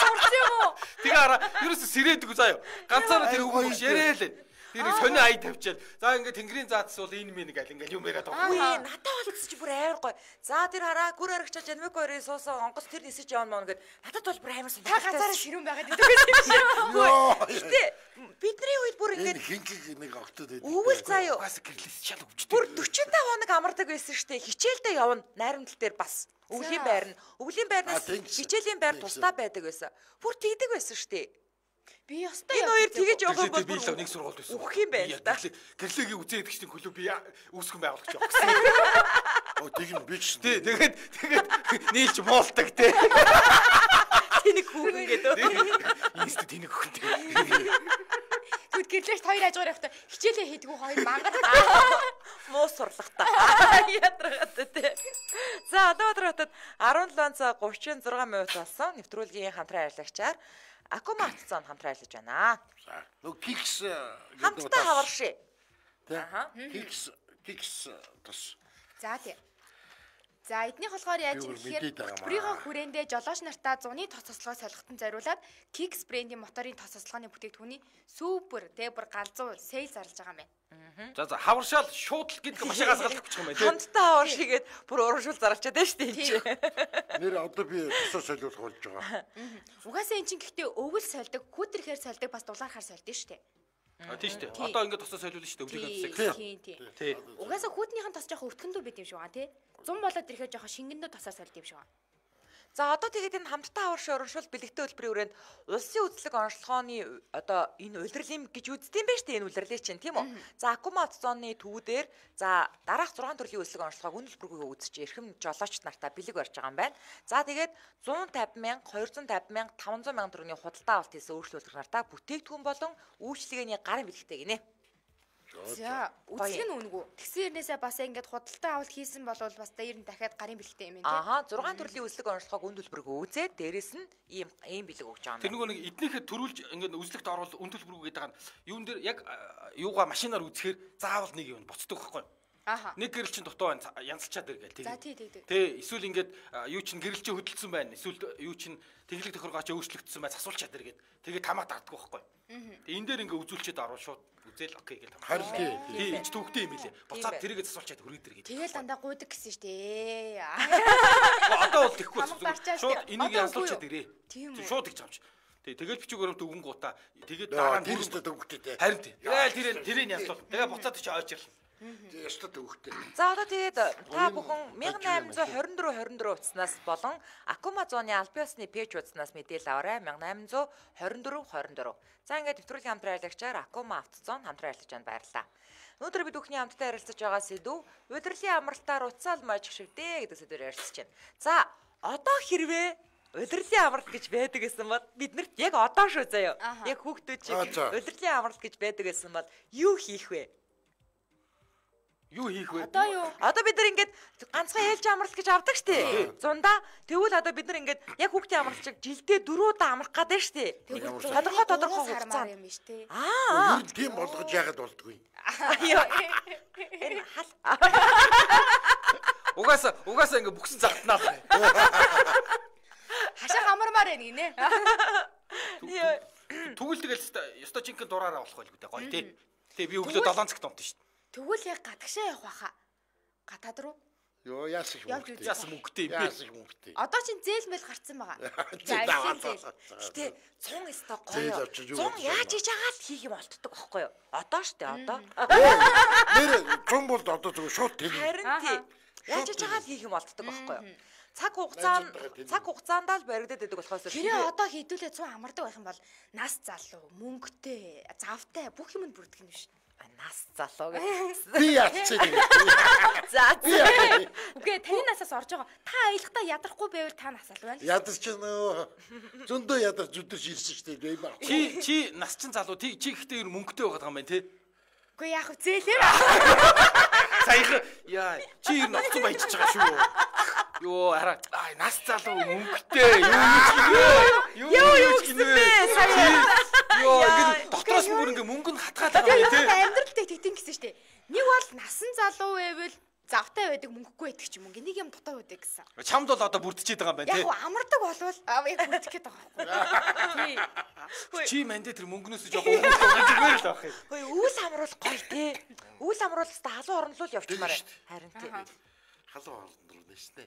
[SPEAKER 4] Сурч юм уу?
[SPEAKER 2] Тэгээ хараа ерөөсө сэрээдэг заа юу. Ганцаараа тэр өвгөн багш яриа л. Тэр сони ай тавьчаад за ингээ тэнгэрийн заадс бол энэ мэн гал ингээл юм яриад байгаа.
[SPEAKER 1] Үгүй надад бол чи бүр амар гоё. За тэр хараа гүр аригчаа жанмик хоёрын суусан онгоц тэр нисэж явна мөн гэд надад бол бүр амар
[SPEAKER 4] Та ганцаараа ширүүн байгаад идэг байсан юм
[SPEAKER 1] шүү. Гэтэ бидний үед бүр ингээд
[SPEAKER 3] хинхиг нэг огтод байдаг.
[SPEAKER 1] өвөл заа юу.
[SPEAKER 2] Угаасаа гэрлээс шал өвчтэй.
[SPEAKER 1] Бүр forty-five хоног амардаг байсан штэ. Хичээлдээ явна найрамдал дээр бас. Өвлийн байр нь. Өвлийн байрнаас хичээлийн байр тусдаа байдаг байсан. Бүр тэгдэг байсан штэ.
[SPEAKER 4] Би ёстой
[SPEAKER 1] энэ хоёр тэгэж явах юм бол
[SPEAKER 2] би л нэг сургууль байсан.
[SPEAKER 1] Үхэх юм байна л да.
[SPEAKER 2] Гэрлэгийн үзээд гिचний клуб би үүсгэн байгуулагч явах гэсэн.
[SPEAKER 3] Оо тэг юм би ч.
[SPEAKER 2] Тий, тэгээд тэгээд нийлж муулдаг те.
[SPEAKER 1] Тэнийг хүүхэн гэдэг.
[SPEAKER 2] Инст тэнийг хүүхэн.
[SPEAKER 4] Тэгвэл гэрлээш хоёр хажуугаар явахдаа хичээлээ хийдгүү хоёр мангар.
[SPEAKER 1] Муу сурлагтаа. Ятрагаад те. За одоо бодротод seventy-seven цаг thirty-six минут болсон. Нэвтрүүлгийн хамтран ажиллагчаар Акума хатцаанд хамтран ажиллаж байна.
[SPEAKER 3] За. Нөө кикс
[SPEAKER 1] Хамтдаа хаварши.
[SPEAKER 3] Аха. Кикс кикс тас.
[SPEAKER 4] За тий. За эднийх болохоор яаж юм гэхээр бүрийнхөө хүрээндээ жолооч нартаа зуны тос тослогоо солихтон зориулаад Kicks брендийн моторын тос тослогооны бүтээгдэхүүний супер тэ бүр галзуу сейл зарлаж байгаа юм байна.
[SPEAKER 2] За за хаваршаал шууд л гэдэг маш газгалах гэж юм байна тийм.
[SPEAKER 1] Хамтдаа хаваршигээд бүр урамшуул заралчаад байна шүү дээ энэ.
[SPEAKER 3] Нэр одоо би тосоо солиулах болж байгаа.
[SPEAKER 4] Угаасаа эн чинь гэхдээ өвөл сольдог, хүүтрэхээр сольдог бас дулаархаар сольдог шүү дээ.
[SPEAKER 2] А тийм шүү дээ. Одоо ингээд тосоо солиулна шүү дээ өвлийнхөө тосыг.
[SPEAKER 4] Тийм тийм.
[SPEAKER 2] Тий.
[SPEAKER 4] Угаасаа хүүтнийхэн тос жоох өвтгөндөө байд юм шиг байна тий. зуун болоод ирэхэд жоох шингэндөө тосоо сольд юм шиг байна.
[SPEAKER 1] За одоо тэгээд энэ хамтдаа хаварши урамшуул бэлэгтэй хөтөлбөрийн хүрээнд улсын үзлэг онцлогооны одоо энэ улирлын гэж үздэм байж тээ энэ улирлыг чинь тийм үү. За Акума зооны төвүүдээр за дараах six төрлийн үзлэг онцлогоог үнэл бүргүйгээ үзэж эрхэм жолоочт нартаа бэлэг барьж байгаа юм байна. За тэгээд one fifty мянга, two hundred fifty мянга, five hundred мянга төгрөгийн худалдаа авалт хийсэн өөрчлөлт нартаа бүтээгдэхүүн болон үйлчлэгээний гарын бэлэгтэй гинэ.
[SPEAKER 4] За үзлэг нь үнгүү. Тэгсэн хэрнээсээ бас ингээд худалдаа авалт хийсэн бол бас дээр нь дахиад гарын бэлэгтэй юм байна тий.
[SPEAKER 1] Аха six төрлийн үзлэг онцлогоог үн төлбөргөө үзээд дээрэс нь ийм ийм бэлэг өгч байгаа юм.
[SPEAKER 2] Тэр нөгөө нэг эднийхээ төрүүлж ингээд үзлэгт оруулах үн төлбөргөө гэдэг нь юун дээр яг юугаа машинаар үзэхээр заавал нэг юм боцдог байхгүй. Нэг гэрэл чинь дутуу янзлчаад иргээл
[SPEAKER 4] тийм. За тий тий.
[SPEAKER 2] Тэ эсвэл ингээд юу чинь гэрэл чинь хөдөлсөн байна. Эсвэл юу чинь тэглэг тохиргооч өөрчлөгдсөн бай засуулчаад иргээд тэгээд тамаа дарддаг байхгүй. Тэг энэ дээр ингээ үзүүлчихэд орвол шууд үзэл окей гэж тамаа.
[SPEAKER 3] Харин тий.
[SPEAKER 2] Тий энэ ч төвхтэй юм билэ. Буцаад тэрийгээ засуулчаад хүрээд иргээд.
[SPEAKER 4] Тэгэл дандаа гуйдаг гэсэн шүү дээ.
[SPEAKER 2] Одоо бол тэхгүй шууд энийг янзлуулчаад ирээ. Шууд их чамч. Тэг тэгэл бичиг баримт өгөн гутаа тэгээд дараа нь
[SPEAKER 3] тэрстэй төвхтэй.
[SPEAKER 2] Харин тий. Тэгэл тэрийг тэрийг янзлуул. Тэгээ буцаад чи ойж ирлаа.
[SPEAKER 3] Ястаа төвхтэй.
[SPEAKER 1] За одоо тэгээд та бүхэн найман айманзаа хорин дөрөв хорин дөрөв утаснаас болон Акума зооны албан ёсны пэйж утаснаас мэдээлэл аваарай. найман айманзаа хорин дөрөв хорин дөрөв. За ингээд нэвтрүүлгийн хамтран аялагчаар Акума автозоон хамтран аялагч байна. Баярлалаа. Өнөөдөр бид бүхний хамтдаа ярилцаж байгаа сэдв удирдлын амралтаар уцаал мажих шивдэ гэдэг сэдвээр ярилцж байна. За одоо хэрвээ удирдлын амралт гэж байдаг гэсэн бол биднэрт яг одоо шүү заяа. Яг хүүхдүүд шиг удирдлын амралт гэж байдаг гэсэн бол юу хийх вэ?
[SPEAKER 2] Юу хийх вэ?
[SPEAKER 4] Одоо юу?
[SPEAKER 1] Одоо бид нар ингээд ганцхан ээлж амралт гэж авдаг штэ. Зундаа тэгвэл одоо бид нар ингээд яг хүүхдийн амралт шиг жилдээ дөрөв удаа амрах гэдэг штэ. Тодорхой тодорхой хугацаанд
[SPEAKER 4] юм биш тэ.
[SPEAKER 1] Аа.
[SPEAKER 3] Юу тийм болгож яагаад болдгүй?
[SPEAKER 1] Энэ хал.
[SPEAKER 2] Угаасаа угаасаа ингээд бүхсэн залтнаа.
[SPEAKER 4] Хашаа хамармаар байна гинэ.
[SPEAKER 2] Тэгвэл тэгэл ёстой жинхэнэ дураараа болох байлгүй дээ. Гоё тий. Тэ би өглөө долоон цагт унтсан шүү дээ.
[SPEAKER 4] Тэгвэл яг гадагшаа явах байхаа. Гадаад руу.
[SPEAKER 3] Йоо яас их мөнгөтэй.
[SPEAKER 2] Яас мөнгөтэй юм бэ?
[SPEAKER 3] Яас их мөнгөтэй.
[SPEAKER 4] Одоо чинь зээл мэл гарцсан байгаа.
[SPEAKER 1] Гэтэ цун өстой гоё. Цун яаж хийж байгаа л хийх юм болтдог байхгүй юу? Одоо штэ одоо.
[SPEAKER 3] Нэр цун бол одоо зөв шууд тэр.
[SPEAKER 1] Харин тий. Яаж хийж байгаа л хийх юм болтдог байхгүй юу? Цаг хугацаанд цаг хугацаанд л баригдаад байдаг болохоос
[SPEAKER 4] хэрэг одоо хийдүүлээ цун амардаг байх юм бол нас залуу, мөнгөтэй, завтай бүх юмд бүрдэх юм биш.
[SPEAKER 1] Нас залуу гэж.
[SPEAKER 3] Би яатчих.
[SPEAKER 1] За за.
[SPEAKER 4] Үгүй таны насаас орж байгаа. Та аялахдаа ядрахгүй байвал та нас аль байна?
[SPEAKER 3] Ядарч нөө. Зөндөө ядарч зүдэрч ирсэн шүү дээ. Би баг.
[SPEAKER 2] Чи чи нас чин залуу чи ихтэй мөнгөтэй байгаа юм байна те.
[SPEAKER 4] Үгүй яах вэ зээлэр.
[SPEAKER 2] Саяхан яа чи ер нь оцсон баяжж байгаа шүү. Йоо хараа аа нас залуу мөнгөтэй юу юу юу юу гинэ. Йоо ингэ дотроос бүр ингэ мөнгө нь хатгаад байгаа юм тий.
[SPEAKER 4] Амьдралтай тэгтэн гэсэн штэ. Нэг бол насан залуу байвал завтай байдаг мөнгөгүй байдаг ч юм уу. Нэг юм дотоо байдаг гэсэн.
[SPEAKER 2] Чамд бол одоо бүрдчихэд байгаа юм байна тий.
[SPEAKER 4] Яг амардаг болвол аа яг бүрдэх гээд байгаа байхгүй.
[SPEAKER 2] Тий. Чи мандэ тэр мөнгнөөс жоох уугуулсан зүгээр л байх юм.
[SPEAKER 1] Хөөе үүс амруул гоё тий. Үүс амруулс та халуун орнолоо явчихмаар. Харин тий.
[SPEAKER 3] Халуун орнол нэштэй.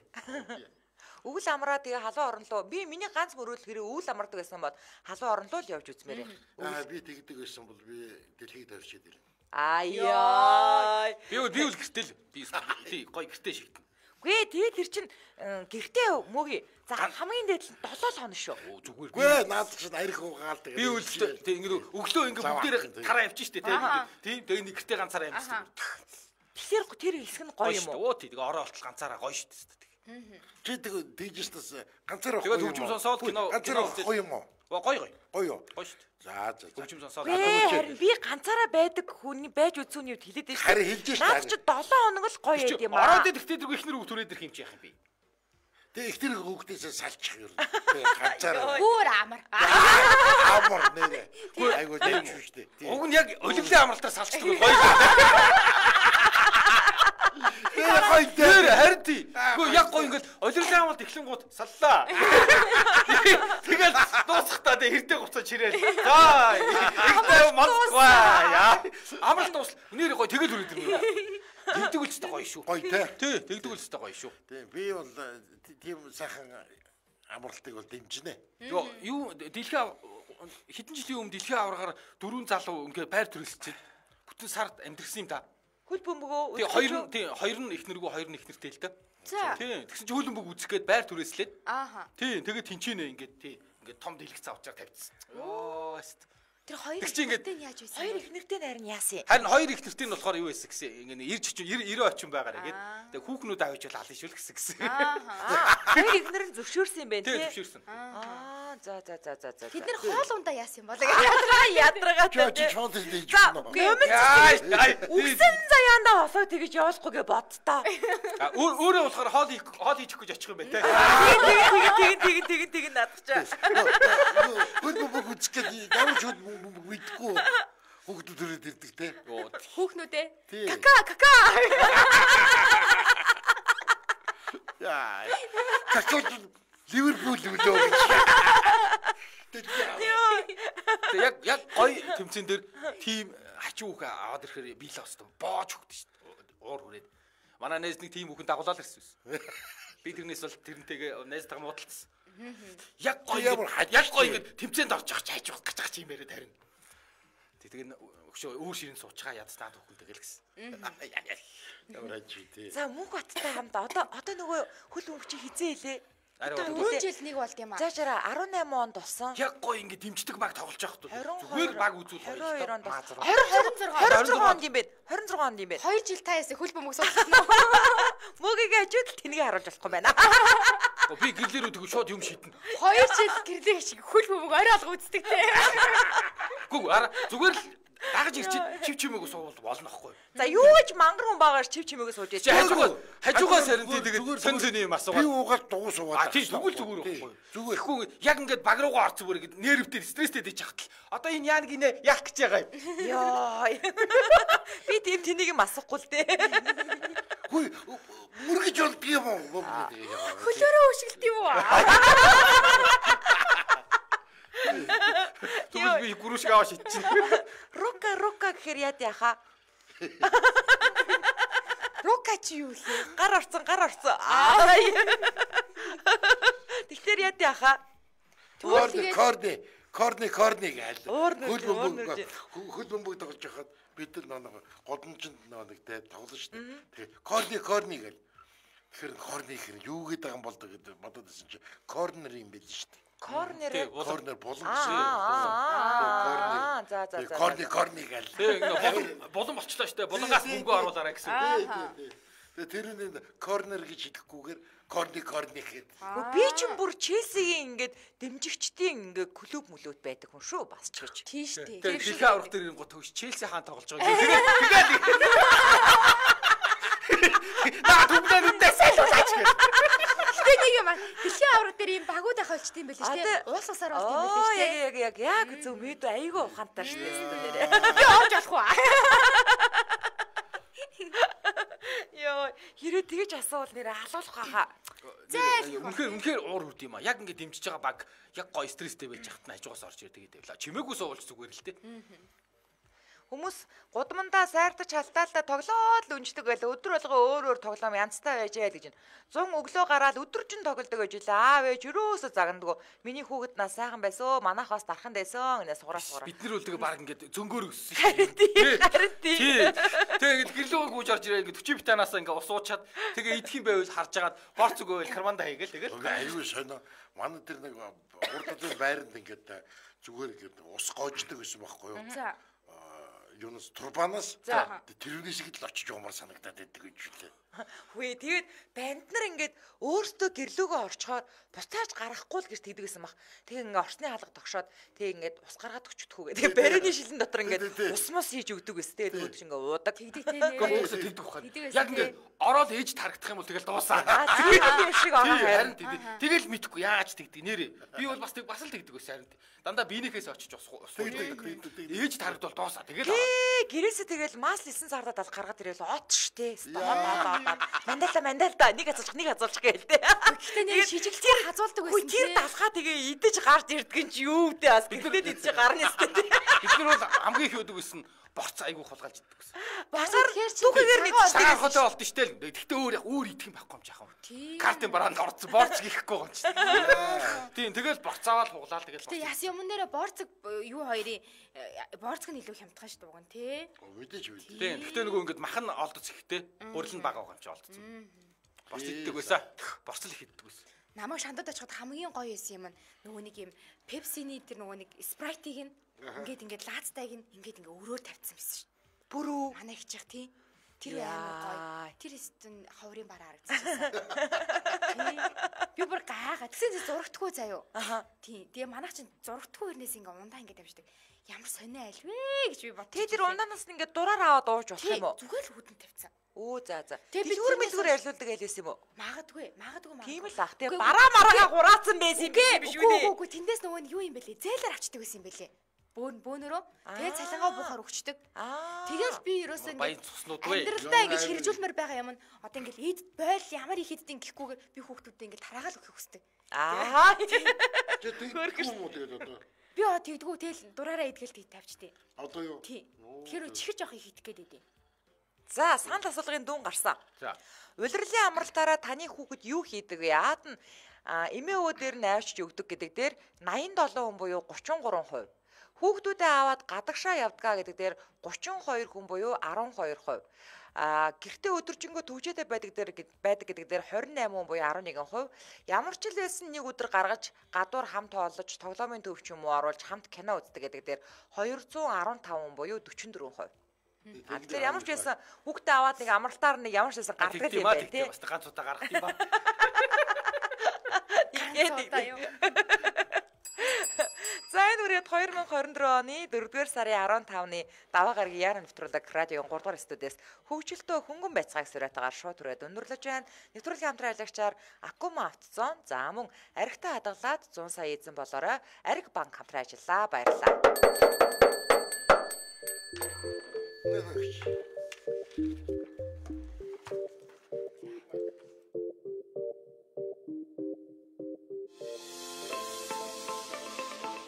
[SPEAKER 1] Өвөл амраа тэгээ халуун орнолоо би миний ганц мөрөөлөл хэрэг өвөл амардаг байсан бол халуун орнолоо л явж үзмээр.
[SPEAKER 3] Аа би тэгдэг байсан бол би дэлхийд авчиад ирнэ.
[SPEAKER 1] Аяа.
[SPEAKER 2] Би би үл гэртэл би тий гоё гэртэй шиг.
[SPEAKER 1] Гүй тэгээ тэр чин гэртээ мөгийн за хамгийн дээд нь долоо хоног шүү.
[SPEAKER 2] Зүгээр.
[SPEAKER 3] Гүй наад чинь арих угаал тэгээ.
[SPEAKER 2] Би үл тий ингэ өглөө ингэ бүгдээр тараа явчих штэ тий. Тий тэгээ нэг гэртээ ганцаараа явчихсан.
[SPEAKER 1] Тэгэхээр тэр хэсэг нь гоё юм уу?
[SPEAKER 2] Оо тий тэгээ ороо болтол ганцаараа гоё штэ.
[SPEAKER 3] Чи тэг дижиталс ганцаар
[SPEAKER 2] тэгээ хөгжим сонсоод кино
[SPEAKER 3] ганцаар гоё юм уу?
[SPEAKER 2] Гоё гоё.
[SPEAKER 3] Гоё.
[SPEAKER 2] Гоё штэ.
[SPEAKER 3] За за.
[SPEAKER 2] Хөгжим сонсоод
[SPEAKER 1] харин би ганцаараа байдаг хүний байж үзүүний үед хэлээд байж.
[SPEAKER 3] Харин хэлж штэ.
[SPEAKER 1] Наад чи долоо хоног л гоё байд юм аа.
[SPEAKER 2] Ороод тэгтээ тэргүй ихнэр үг түрээд ирэх юм чи яах юм бэ?
[SPEAKER 3] Тэг их тэр хүүхдээсээ салчих юм. Тэг ганцаар.
[SPEAKER 4] Бүр амар.
[SPEAKER 3] Амар нэрээ. Айгуу дэмж штэ.
[SPEAKER 2] Уг нь яг өлөглөө амралтаар салцдаг гоё.
[SPEAKER 3] Гоё
[SPEAKER 2] дээр харин тий. Гэхдээ яг гоё ингээд олирлын амралт эхлэнгууд саллаа. Тэгэл дуусахтаа тэ хэрдээ гуцаж ирээл. За ихтэй мандгаа яа. Амралт дуусла. Нэр гоё тэгэл хүрээд ирнэ. Тэгдэг үлчтэй гоё шүү.
[SPEAKER 3] Гоё те.
[SPEAKER 2] Тий, тэгдэг үлчтэй гоё шүү.
[SPEAKER 3] Тий, би бол тийм сайхан амралтыг бол дэмжинэ.
[SPEAKER 2] Юу юу дэлхийн хэдэн жилийн өмнө дэлхийн аваргаар дөрвөн залуу ингээ байр төрөлцөд бүтэн сард амьдрсан юм та.
[SPEAKER 1] Хөл бөмбөгөө.
[SPEAKER 2] Тий, хоёр нь тий, хоёр нь их нэргүй, хоёр нь их нэртэй л та. Тий, тэгсэн чинь хөл бөмбөг үзэх гээд байр түрээслээд.
[SPEAKER 4] Ааха.
[SPEAKER 2] Тий, тэгээд тэнчэнэ ингээд тий, ингээд том дэлгэц авчаар тавьчихсан. Оо, хэвээ.
[SPEAKER 4] Тэр хоёр ихнэртэй нь яаж байсан?
[SPEAKER 1] Хоёр ихнэртэй нь харин яасан?
[SPEAKER 2] Харин хоёр ихнэртэй нь болохоор юу байсан гэсэн ингээд ирж очив нэрээ очин байгаарэ гээд. Тэгээд хүүхнүүд авч бол алын шүл гэсэн гэсэн.
[SPEAKER 1] Аа. Хоёр ихнэр нь зөвшөөрсөн юм байна тий.
[SPEAKER 2] Тий, зөвшөөрсөн.
[SPEAKER 1] Аа, за за за за за.
[SPEAKER 4] Тэд нэр хоол ундаа яасан юм бол
[SPEAKER 1] ядрага ядрагатай.
[SPEAKER 3] Чи чууд дийж
[SPEAKER 1] байна. Өмнө үгсэн заяандаа босоо тэгэж явуулахгүйгээ бодтоо.
[SPEAKER 2] Өөрөө болохоор хоол хоол хийж өгөх гэж очих юм байна тий.
[SPEAKER 1] Тэгин тэгин тэгин тэгин наадчихаа.
[SPEAKER 3] Хөл бөмбөг үзэх гээд ямар ч хөл бөмбөг мэдгүй. Хүүхдүүд төрөөд ирдэг те.
[SPEAKER 4] Хүүхнүүд ээ. Кака кака.
[SPEAKER 3] Яа. Кака Ливерпул үлөө.
[SPEAKER 2] Тэг яг яг гоё тэмцэн дээр тим хачуу хүүхэ аваад ирэхээр би л остон боож хөгдөн шүү дээ. Уур хүрээд. Манай найз нэг тим хүүхэн дагуулаад ирсэн юм. Би тэрнээс бол тэрнтэйгээ найзтайгаа муудалцсан. Яг гоё ямар яг гоё ингэ тэмцээнд орж явах чайж явах гэж байгаа юм яриад харин. Тэгээд өгшөө өөр ширэн суучгаа ядстаад хүүхэн тэгэл гэсэн.
[SPEAKER 3] Ямар ажиг тий.
[SPEAKER 1] За мөнх баттай хамт одоо одоо нөгөө хөл өмч хизээ хэлээ.
[SPEAKER 4] Дөрвөн жил нэг болд юм аа.
[SPEAKER 1] Заашаа арван найман онд болсон.
[SPEAKER 2] Яг гоё ингэ дэмждэг баг тоглож явах хэрэгтэй. Зүгээр баг үзүүл
[SPEAKER 1] хоёр онд
[SPEAKER 4] двадцать
[SPEAKER 1] двадцать шесть онд юм бэ? двадцать шесть онд юм бэ?
[SPEAKER 4] хоёр жил та ясаа хөл бөмбөг суулгасан уу?
[SPEAKER 1] Мөгийг ажууд л тнийг харуулж болохгүй байна.
[SPEAKER 2] Би гэрлэрүү тэгв шууд юм шийднэ.
[SPEAKER 4] хоёр жил гэрлээ шиг хөл бөмбөг орой алга үздэг те.
[SPEAKER 2] Гүг ара зүгээр л дагаж ирчих чив чимээгөө суувал болно аахгүй.
[SPEAKER 1] За юу ч мангар хүн багаар чив чимээгөө сууж яах.
[SPEAKER 2] Хажуугаа хажуугаа сарин тэгээд сөн сөний юм асуугаад.
[SPEAKER 3] Би уугаад дугуй суугаад.
[SPEAKER 2] А тийм зүгээр зүгээр байхгүй. Зүгээр. Ихгүй яг ингээд баг руугаа орц зүгээр ингээд нервтэй стресстэй дэж хахтал. Одоо энэ яа нэг инэ яах гэж байгаа юм.
[SPEAKER 1] Йоо. Би тийм тэнийг юм асахгүй л дээ.
[SPEAKER 3] Хөөе мөргөж болдг юм уу?
[SPEAKER 4] Хөлөөрөө өшгөлт юм уу?
[SPEAKER 2] Тэгвэл би гүрүшг аваа шидчихсэн.
[SPEAKER 1] Рока рока гэхээр яад яха.
[SPEAKER 4] Рока чи юу вэ?
[SPEAKER 1] Гар орцсон гар орцсон. Тэгэхээр яад яха.
[SPEAKER 3] Корни корни корни корни гээл.
[SPEAKER 1] Хөл
[SPEAKER 3] бөмбөг хөл бөмбөг тоглож байхад бид нар нэг годомжинд нэг тэ тоглоно шүү дээ. Тэгээ корни корни гээл. Тэгэхээр корни хэр юу гэдэг юм бол гэдэг бодоод байсан чи корнер юм байл шүү дээ.
[SPEAKER 1] Корнер
[SPEAKER 3] корнер болон
[SPEAKER 1] гэсэн. Аа за за за.
[SPEAKER 3] Корни корни гээл.
[SPEAKER 2] Тэг ингээ болон болчлоо штэ. Болонгаас мөнгө оруулаарай гэсэн.
[SPEAKER 3] Тэгээ тэр нь корнер гэж хэлэхгүйгээр корни корни гэхэд.
[SPEAKER 1] Би ч бүр Челсигийн ингээд дэмжигчдийн ингээ клуб мүлөөд байдаг хүн шүү бас ч гэж.
[SPEAKER 4] Тийш тий.
[SPEAKER 2] Тэгээ дэлхийн аврах дээр гот төгс Челси хаан тоглож байгаа. Тэгээд тэгээд наа түмдээ үндэ сэлүүлж гээ.
[SPEAKER 4] Гэтэ нэг юм аа. Дэлхийн авраг дээр ийм багууд ах болчт юм байл шүү дээ. Уус усаар болт юм байл шүү дээ.
[SPEAKER 1] Яг яг яг зөв мэд айгүй ухаантай шүү дээ.
[SPEAKER 4] Би орж болох уу?
[SPEAKER 1] Йоо, хэрэг тэгэж асуувал нэрээ халуулах хаа.
[SPEAKER 2] Үнэхээр үнэхээр уур үрд юм а. Яг ингэ дэмжиж байгаа баг яг гоё стресстэй байж хат нь хажуугаас орж ирдэг гэдэг л. Чимээгүй суулж зүгээр л дээ.
[SPEAKER 1] Хүмүүс гудамдаа сайртаж халтаалтаа тоглоод л үнждэг байл өдөр болго өөр өөр тоглоом янзтай байж яа л гэж байна. зун өглөө гараад өдөржин тоглодог гэж үлээ. Аав ээж юусоо загнадаг. Миний хүүхэд нас сайхан байсан. Манайх бас дархан байсан гэнэ сугараа сугараа.
[SPEAKER 2] Бид нар бол тэгээ баг ингээд зөнгөөр өссөн.
[SPEAKER 1] Харин тийм. Харин тийм.
[SPEAKER 2] Тэгээ ингээд гэрлүүг гүйж орж ирээ ингээд өчиг битанаасаа ингээд ус уучаад тэгээ идэх юм байвал харж агаад борц өгөөл карманда хийгээл тэгэл.
[SPEAKER 3] Аюу сонио. Манай тэр нэг урдад байранд ингээд зүгээр ингээд ус гоождаг гэсэн байхгүй юу?
[SPEAKER 4] За.
[SPEAKER 3] Юунаас турбанаас тэрүүний шиг л очиж юмар санагдаад байдаг гэж үлээ.
[SPEAKER 1] Хөөе тэгээд банд нар ингээд өөртөө гэрлөөгөө орчхоор буцааж гарахгүй л гэж тэгдэгсэн баг. Тэгээ ингээд орсны хаалга тогшоод тэгээ ингээд ус гаргаад өчтдөхүү гэдэг. Тэгээ барины шилэн дотор ингээд ус мос хийж өгдөг гэсэн. Тэгээ нөгөөд чинь ингээд уудаг.
[SPEAKER 4] Тэгдэг тийм.
[SPEAKER 2] Гомсоо тэгдэг ухаан. Яг ингээд ороод ээж тарагдах юм бол тэгэл дуусаа.
[SPEAKER 1] Аа тийм шиг ороо
[SPEAKER 2] харин тэгэл мэдхгүй яаж тэгдэг нэрээ. Би бол бас тэг бас л тэгдэг ус харин. Дандаа биенийхээс очиж ус уудаг. Ээж тарагдвал дуусаа. Тэгэл
[SPEAKER 1] гэрээсээ тэгэл мас лисэн сардаад ал гаргаад ирээл от штэ. Мандалта мандалта нэг хазуулчих нэг хазуулчих гээл тэ.
[SPEAKER 4] Гэхдээ нэг шижиглэлээр хазуулдаг байсан.
[SPEAKER 1] Тэр далхаа тэгээ идэж гарч ирдэг ч юу вэ бас гэрлээд идэж гарна штэ.
[SPEAKER 2] Бид нар бол хамгийн их өдөг гэсэн борц айгуу хулгайлж иддэг гэсэн.
[SPEAKER 1] Басаар түүхээр мэдчихсэн.
[SPEAKER 2] Сар хотоо болд нь штэ л. Гэхдээ өөр яг өөр идэх юм байхгүй юм жаахан. Картын бараанд орцсон борц гихгүй юм чи. Тийм тэгэл борцаавал хуглаал тэгэл.
[SPEAKER 4] Гэтэ яс юмн дээр борцог юу хоёрын борцог нь илүү хямдхан шүү дээ тий.
[SPEAKER 3] Мэдээж үү.
[SPEAKER 2] Тийм гэхдээ нөгөө ингэдэг махан олдоц ихтэй гурил нь бага байгаа юм чи олдсон. Борц иддэг байсан. Борцол их иддэг байсан.
[SPEAKER 4] Намайг шандад очиход хамгийн гоё юм нь нөгөө нэг юм Pepsi-ний тэр нөгөө нэг Sprite-ийг ингээд ингээд лаацтайг ингээд ингээд өрөөр тавьчихсан байсан шүү.
[SPEAKER 1] Бүрүү
[SPEAKER 4] манай хичих тий. Тэр амар гоё. Тэр стен ховрын бараа харагдчихсан. Би бүр гайхаад тэгсэн чинь зурагдгүй заяо. Тий. Тэгээ манайх чинь зурагдгүй хэрнээс ингээ ундаа ингээ тавьждаг. Ямар сонио айлвэ гэж би бод.
[SPEAKER 1] Тэ тэр ундаанаас ингээ дураар аваад ууж болох юм уу?
[SPEAKER 4] Зүгээр л хөдөн тавьсан.
[SPEAKER 1] Оо за за. Дэлгүүр мэлгүүр ярьлуулдаг айлээс юм уу?
[SPEAKER 4] Магадгүй, магадгүй магадгүй.
[SPEAKER 1] Тийм л ах. Тэгээ бараа мараага хураацсан байсан юм биш үү?
[SPEAKER 4] Үгүй үгүй тэндээс нөгөө юу юм бэлээ? Зээлэр авчдаг байсан юм бэлээ. бөөн бөөнөрөө тэгээд цалингаа буухаар өгчдөг. Тэгэл би ерөөсөө
[SPEAKER 2] баян цуснууд вэ?
[SPEAKER 4] Амьдралдаа ингэж хэрэгжүүлмээр байгаа юм нь одоо ингээл эд бойл ямар их эддийн гэхгүйгээр би хүүхдүүдэд ингээл тараагаал өгөх хүсдэг.
[SPEAKER 1] Аа.
[SPEAKER 3] Тэгээд юм уу тэгээд одоо.
[SPEAKER 4] Би оо тэгдгүү тэгэл дураараа идгээл тийг тавьчтээ.
[SPEAKER 3] Одоо юу?
[SPEAKER 4] Тий. Тэгэхээр чихэр жоох их идэх гээд идэв.
[SPEAKER 1] За, санал асуулгын дуун гарсан.
[SPEAKER 2] За.
[SPEAKER 1] Улирлын амралтаараа таны хүүхэд юу хийдэг вэ? Аад нь эмээ өвөө дээр нь авчиж өгдөг гэдэг дээр найман долоо хүн буюу гучин гурван хувь. Хүүхдүүдээ аваад гадагшаа явдгаа гэдэг дээр гучин хоёр хүн буюу арван хоёр хувь. А гэртээ өдөржингөө төвчөөдөө байдаг дээр байдаг гэдэг дээр хорин найман хүн буюу арван нэгэн хувь. Ямар ч л байсан нэг өдөр гаргаж гадуур хамт хооллож тоглоомын төв ч юм уу оруулж хамт кино үздэг гэдэг дээр двести арван таван хүн буюу дөрвөн дөрвөн хувь. А тэгэхээр ямар ч байсан хүүхдээ аваад нэг амралтаар нэг ямар ч байсан гардаг юм байна тий.
[SPEAKER 2] Бас ганц удаа гаргах юм ба.
[SPEAKER 1] За энэ үрээд две тысячи двадцать четыре оны дөрөвдүгээр сарын арван тавны даваа гарагийн яаран нэвтрүүлэг радиогийн гурав дахь студиэс хөгжилтөө хөнгөн байцгааг сураатаагаар шууд түрээд өндөрлөж байна. Нэвтрүүлгийн хамтран ажиллагчаар Акума автозон за мөн аригтай хадгалаад зуун сая эзэн болоорой Ариг банк хамтран ажиллаа. Баярлалаа.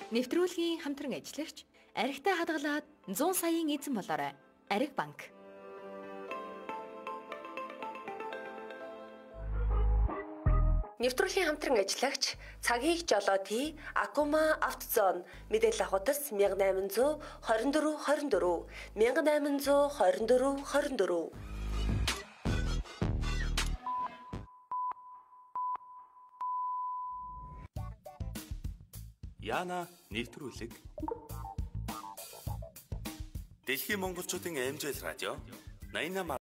[SPEAKER 5] Нэвтрүүлгийн хамтран ажиллагч аригтай хадгалаад зуун саяын эзэн болоорой Ариг банк.
[SPEAKER 6] Нэвтрүүлгийн хамтран ажиллагч цагийг жолооти Акума автозон мэдээлэл авахтас мянга найман зуун хорин дөрвөн хорин дөрвөн мянга найман зуун хорин дөрвөн хорин дөрвөн.
[SPEAKER 7] Яна нэвтрүүлэг Дэлхийн монголчуудын эмжил радио восемьдесят восемь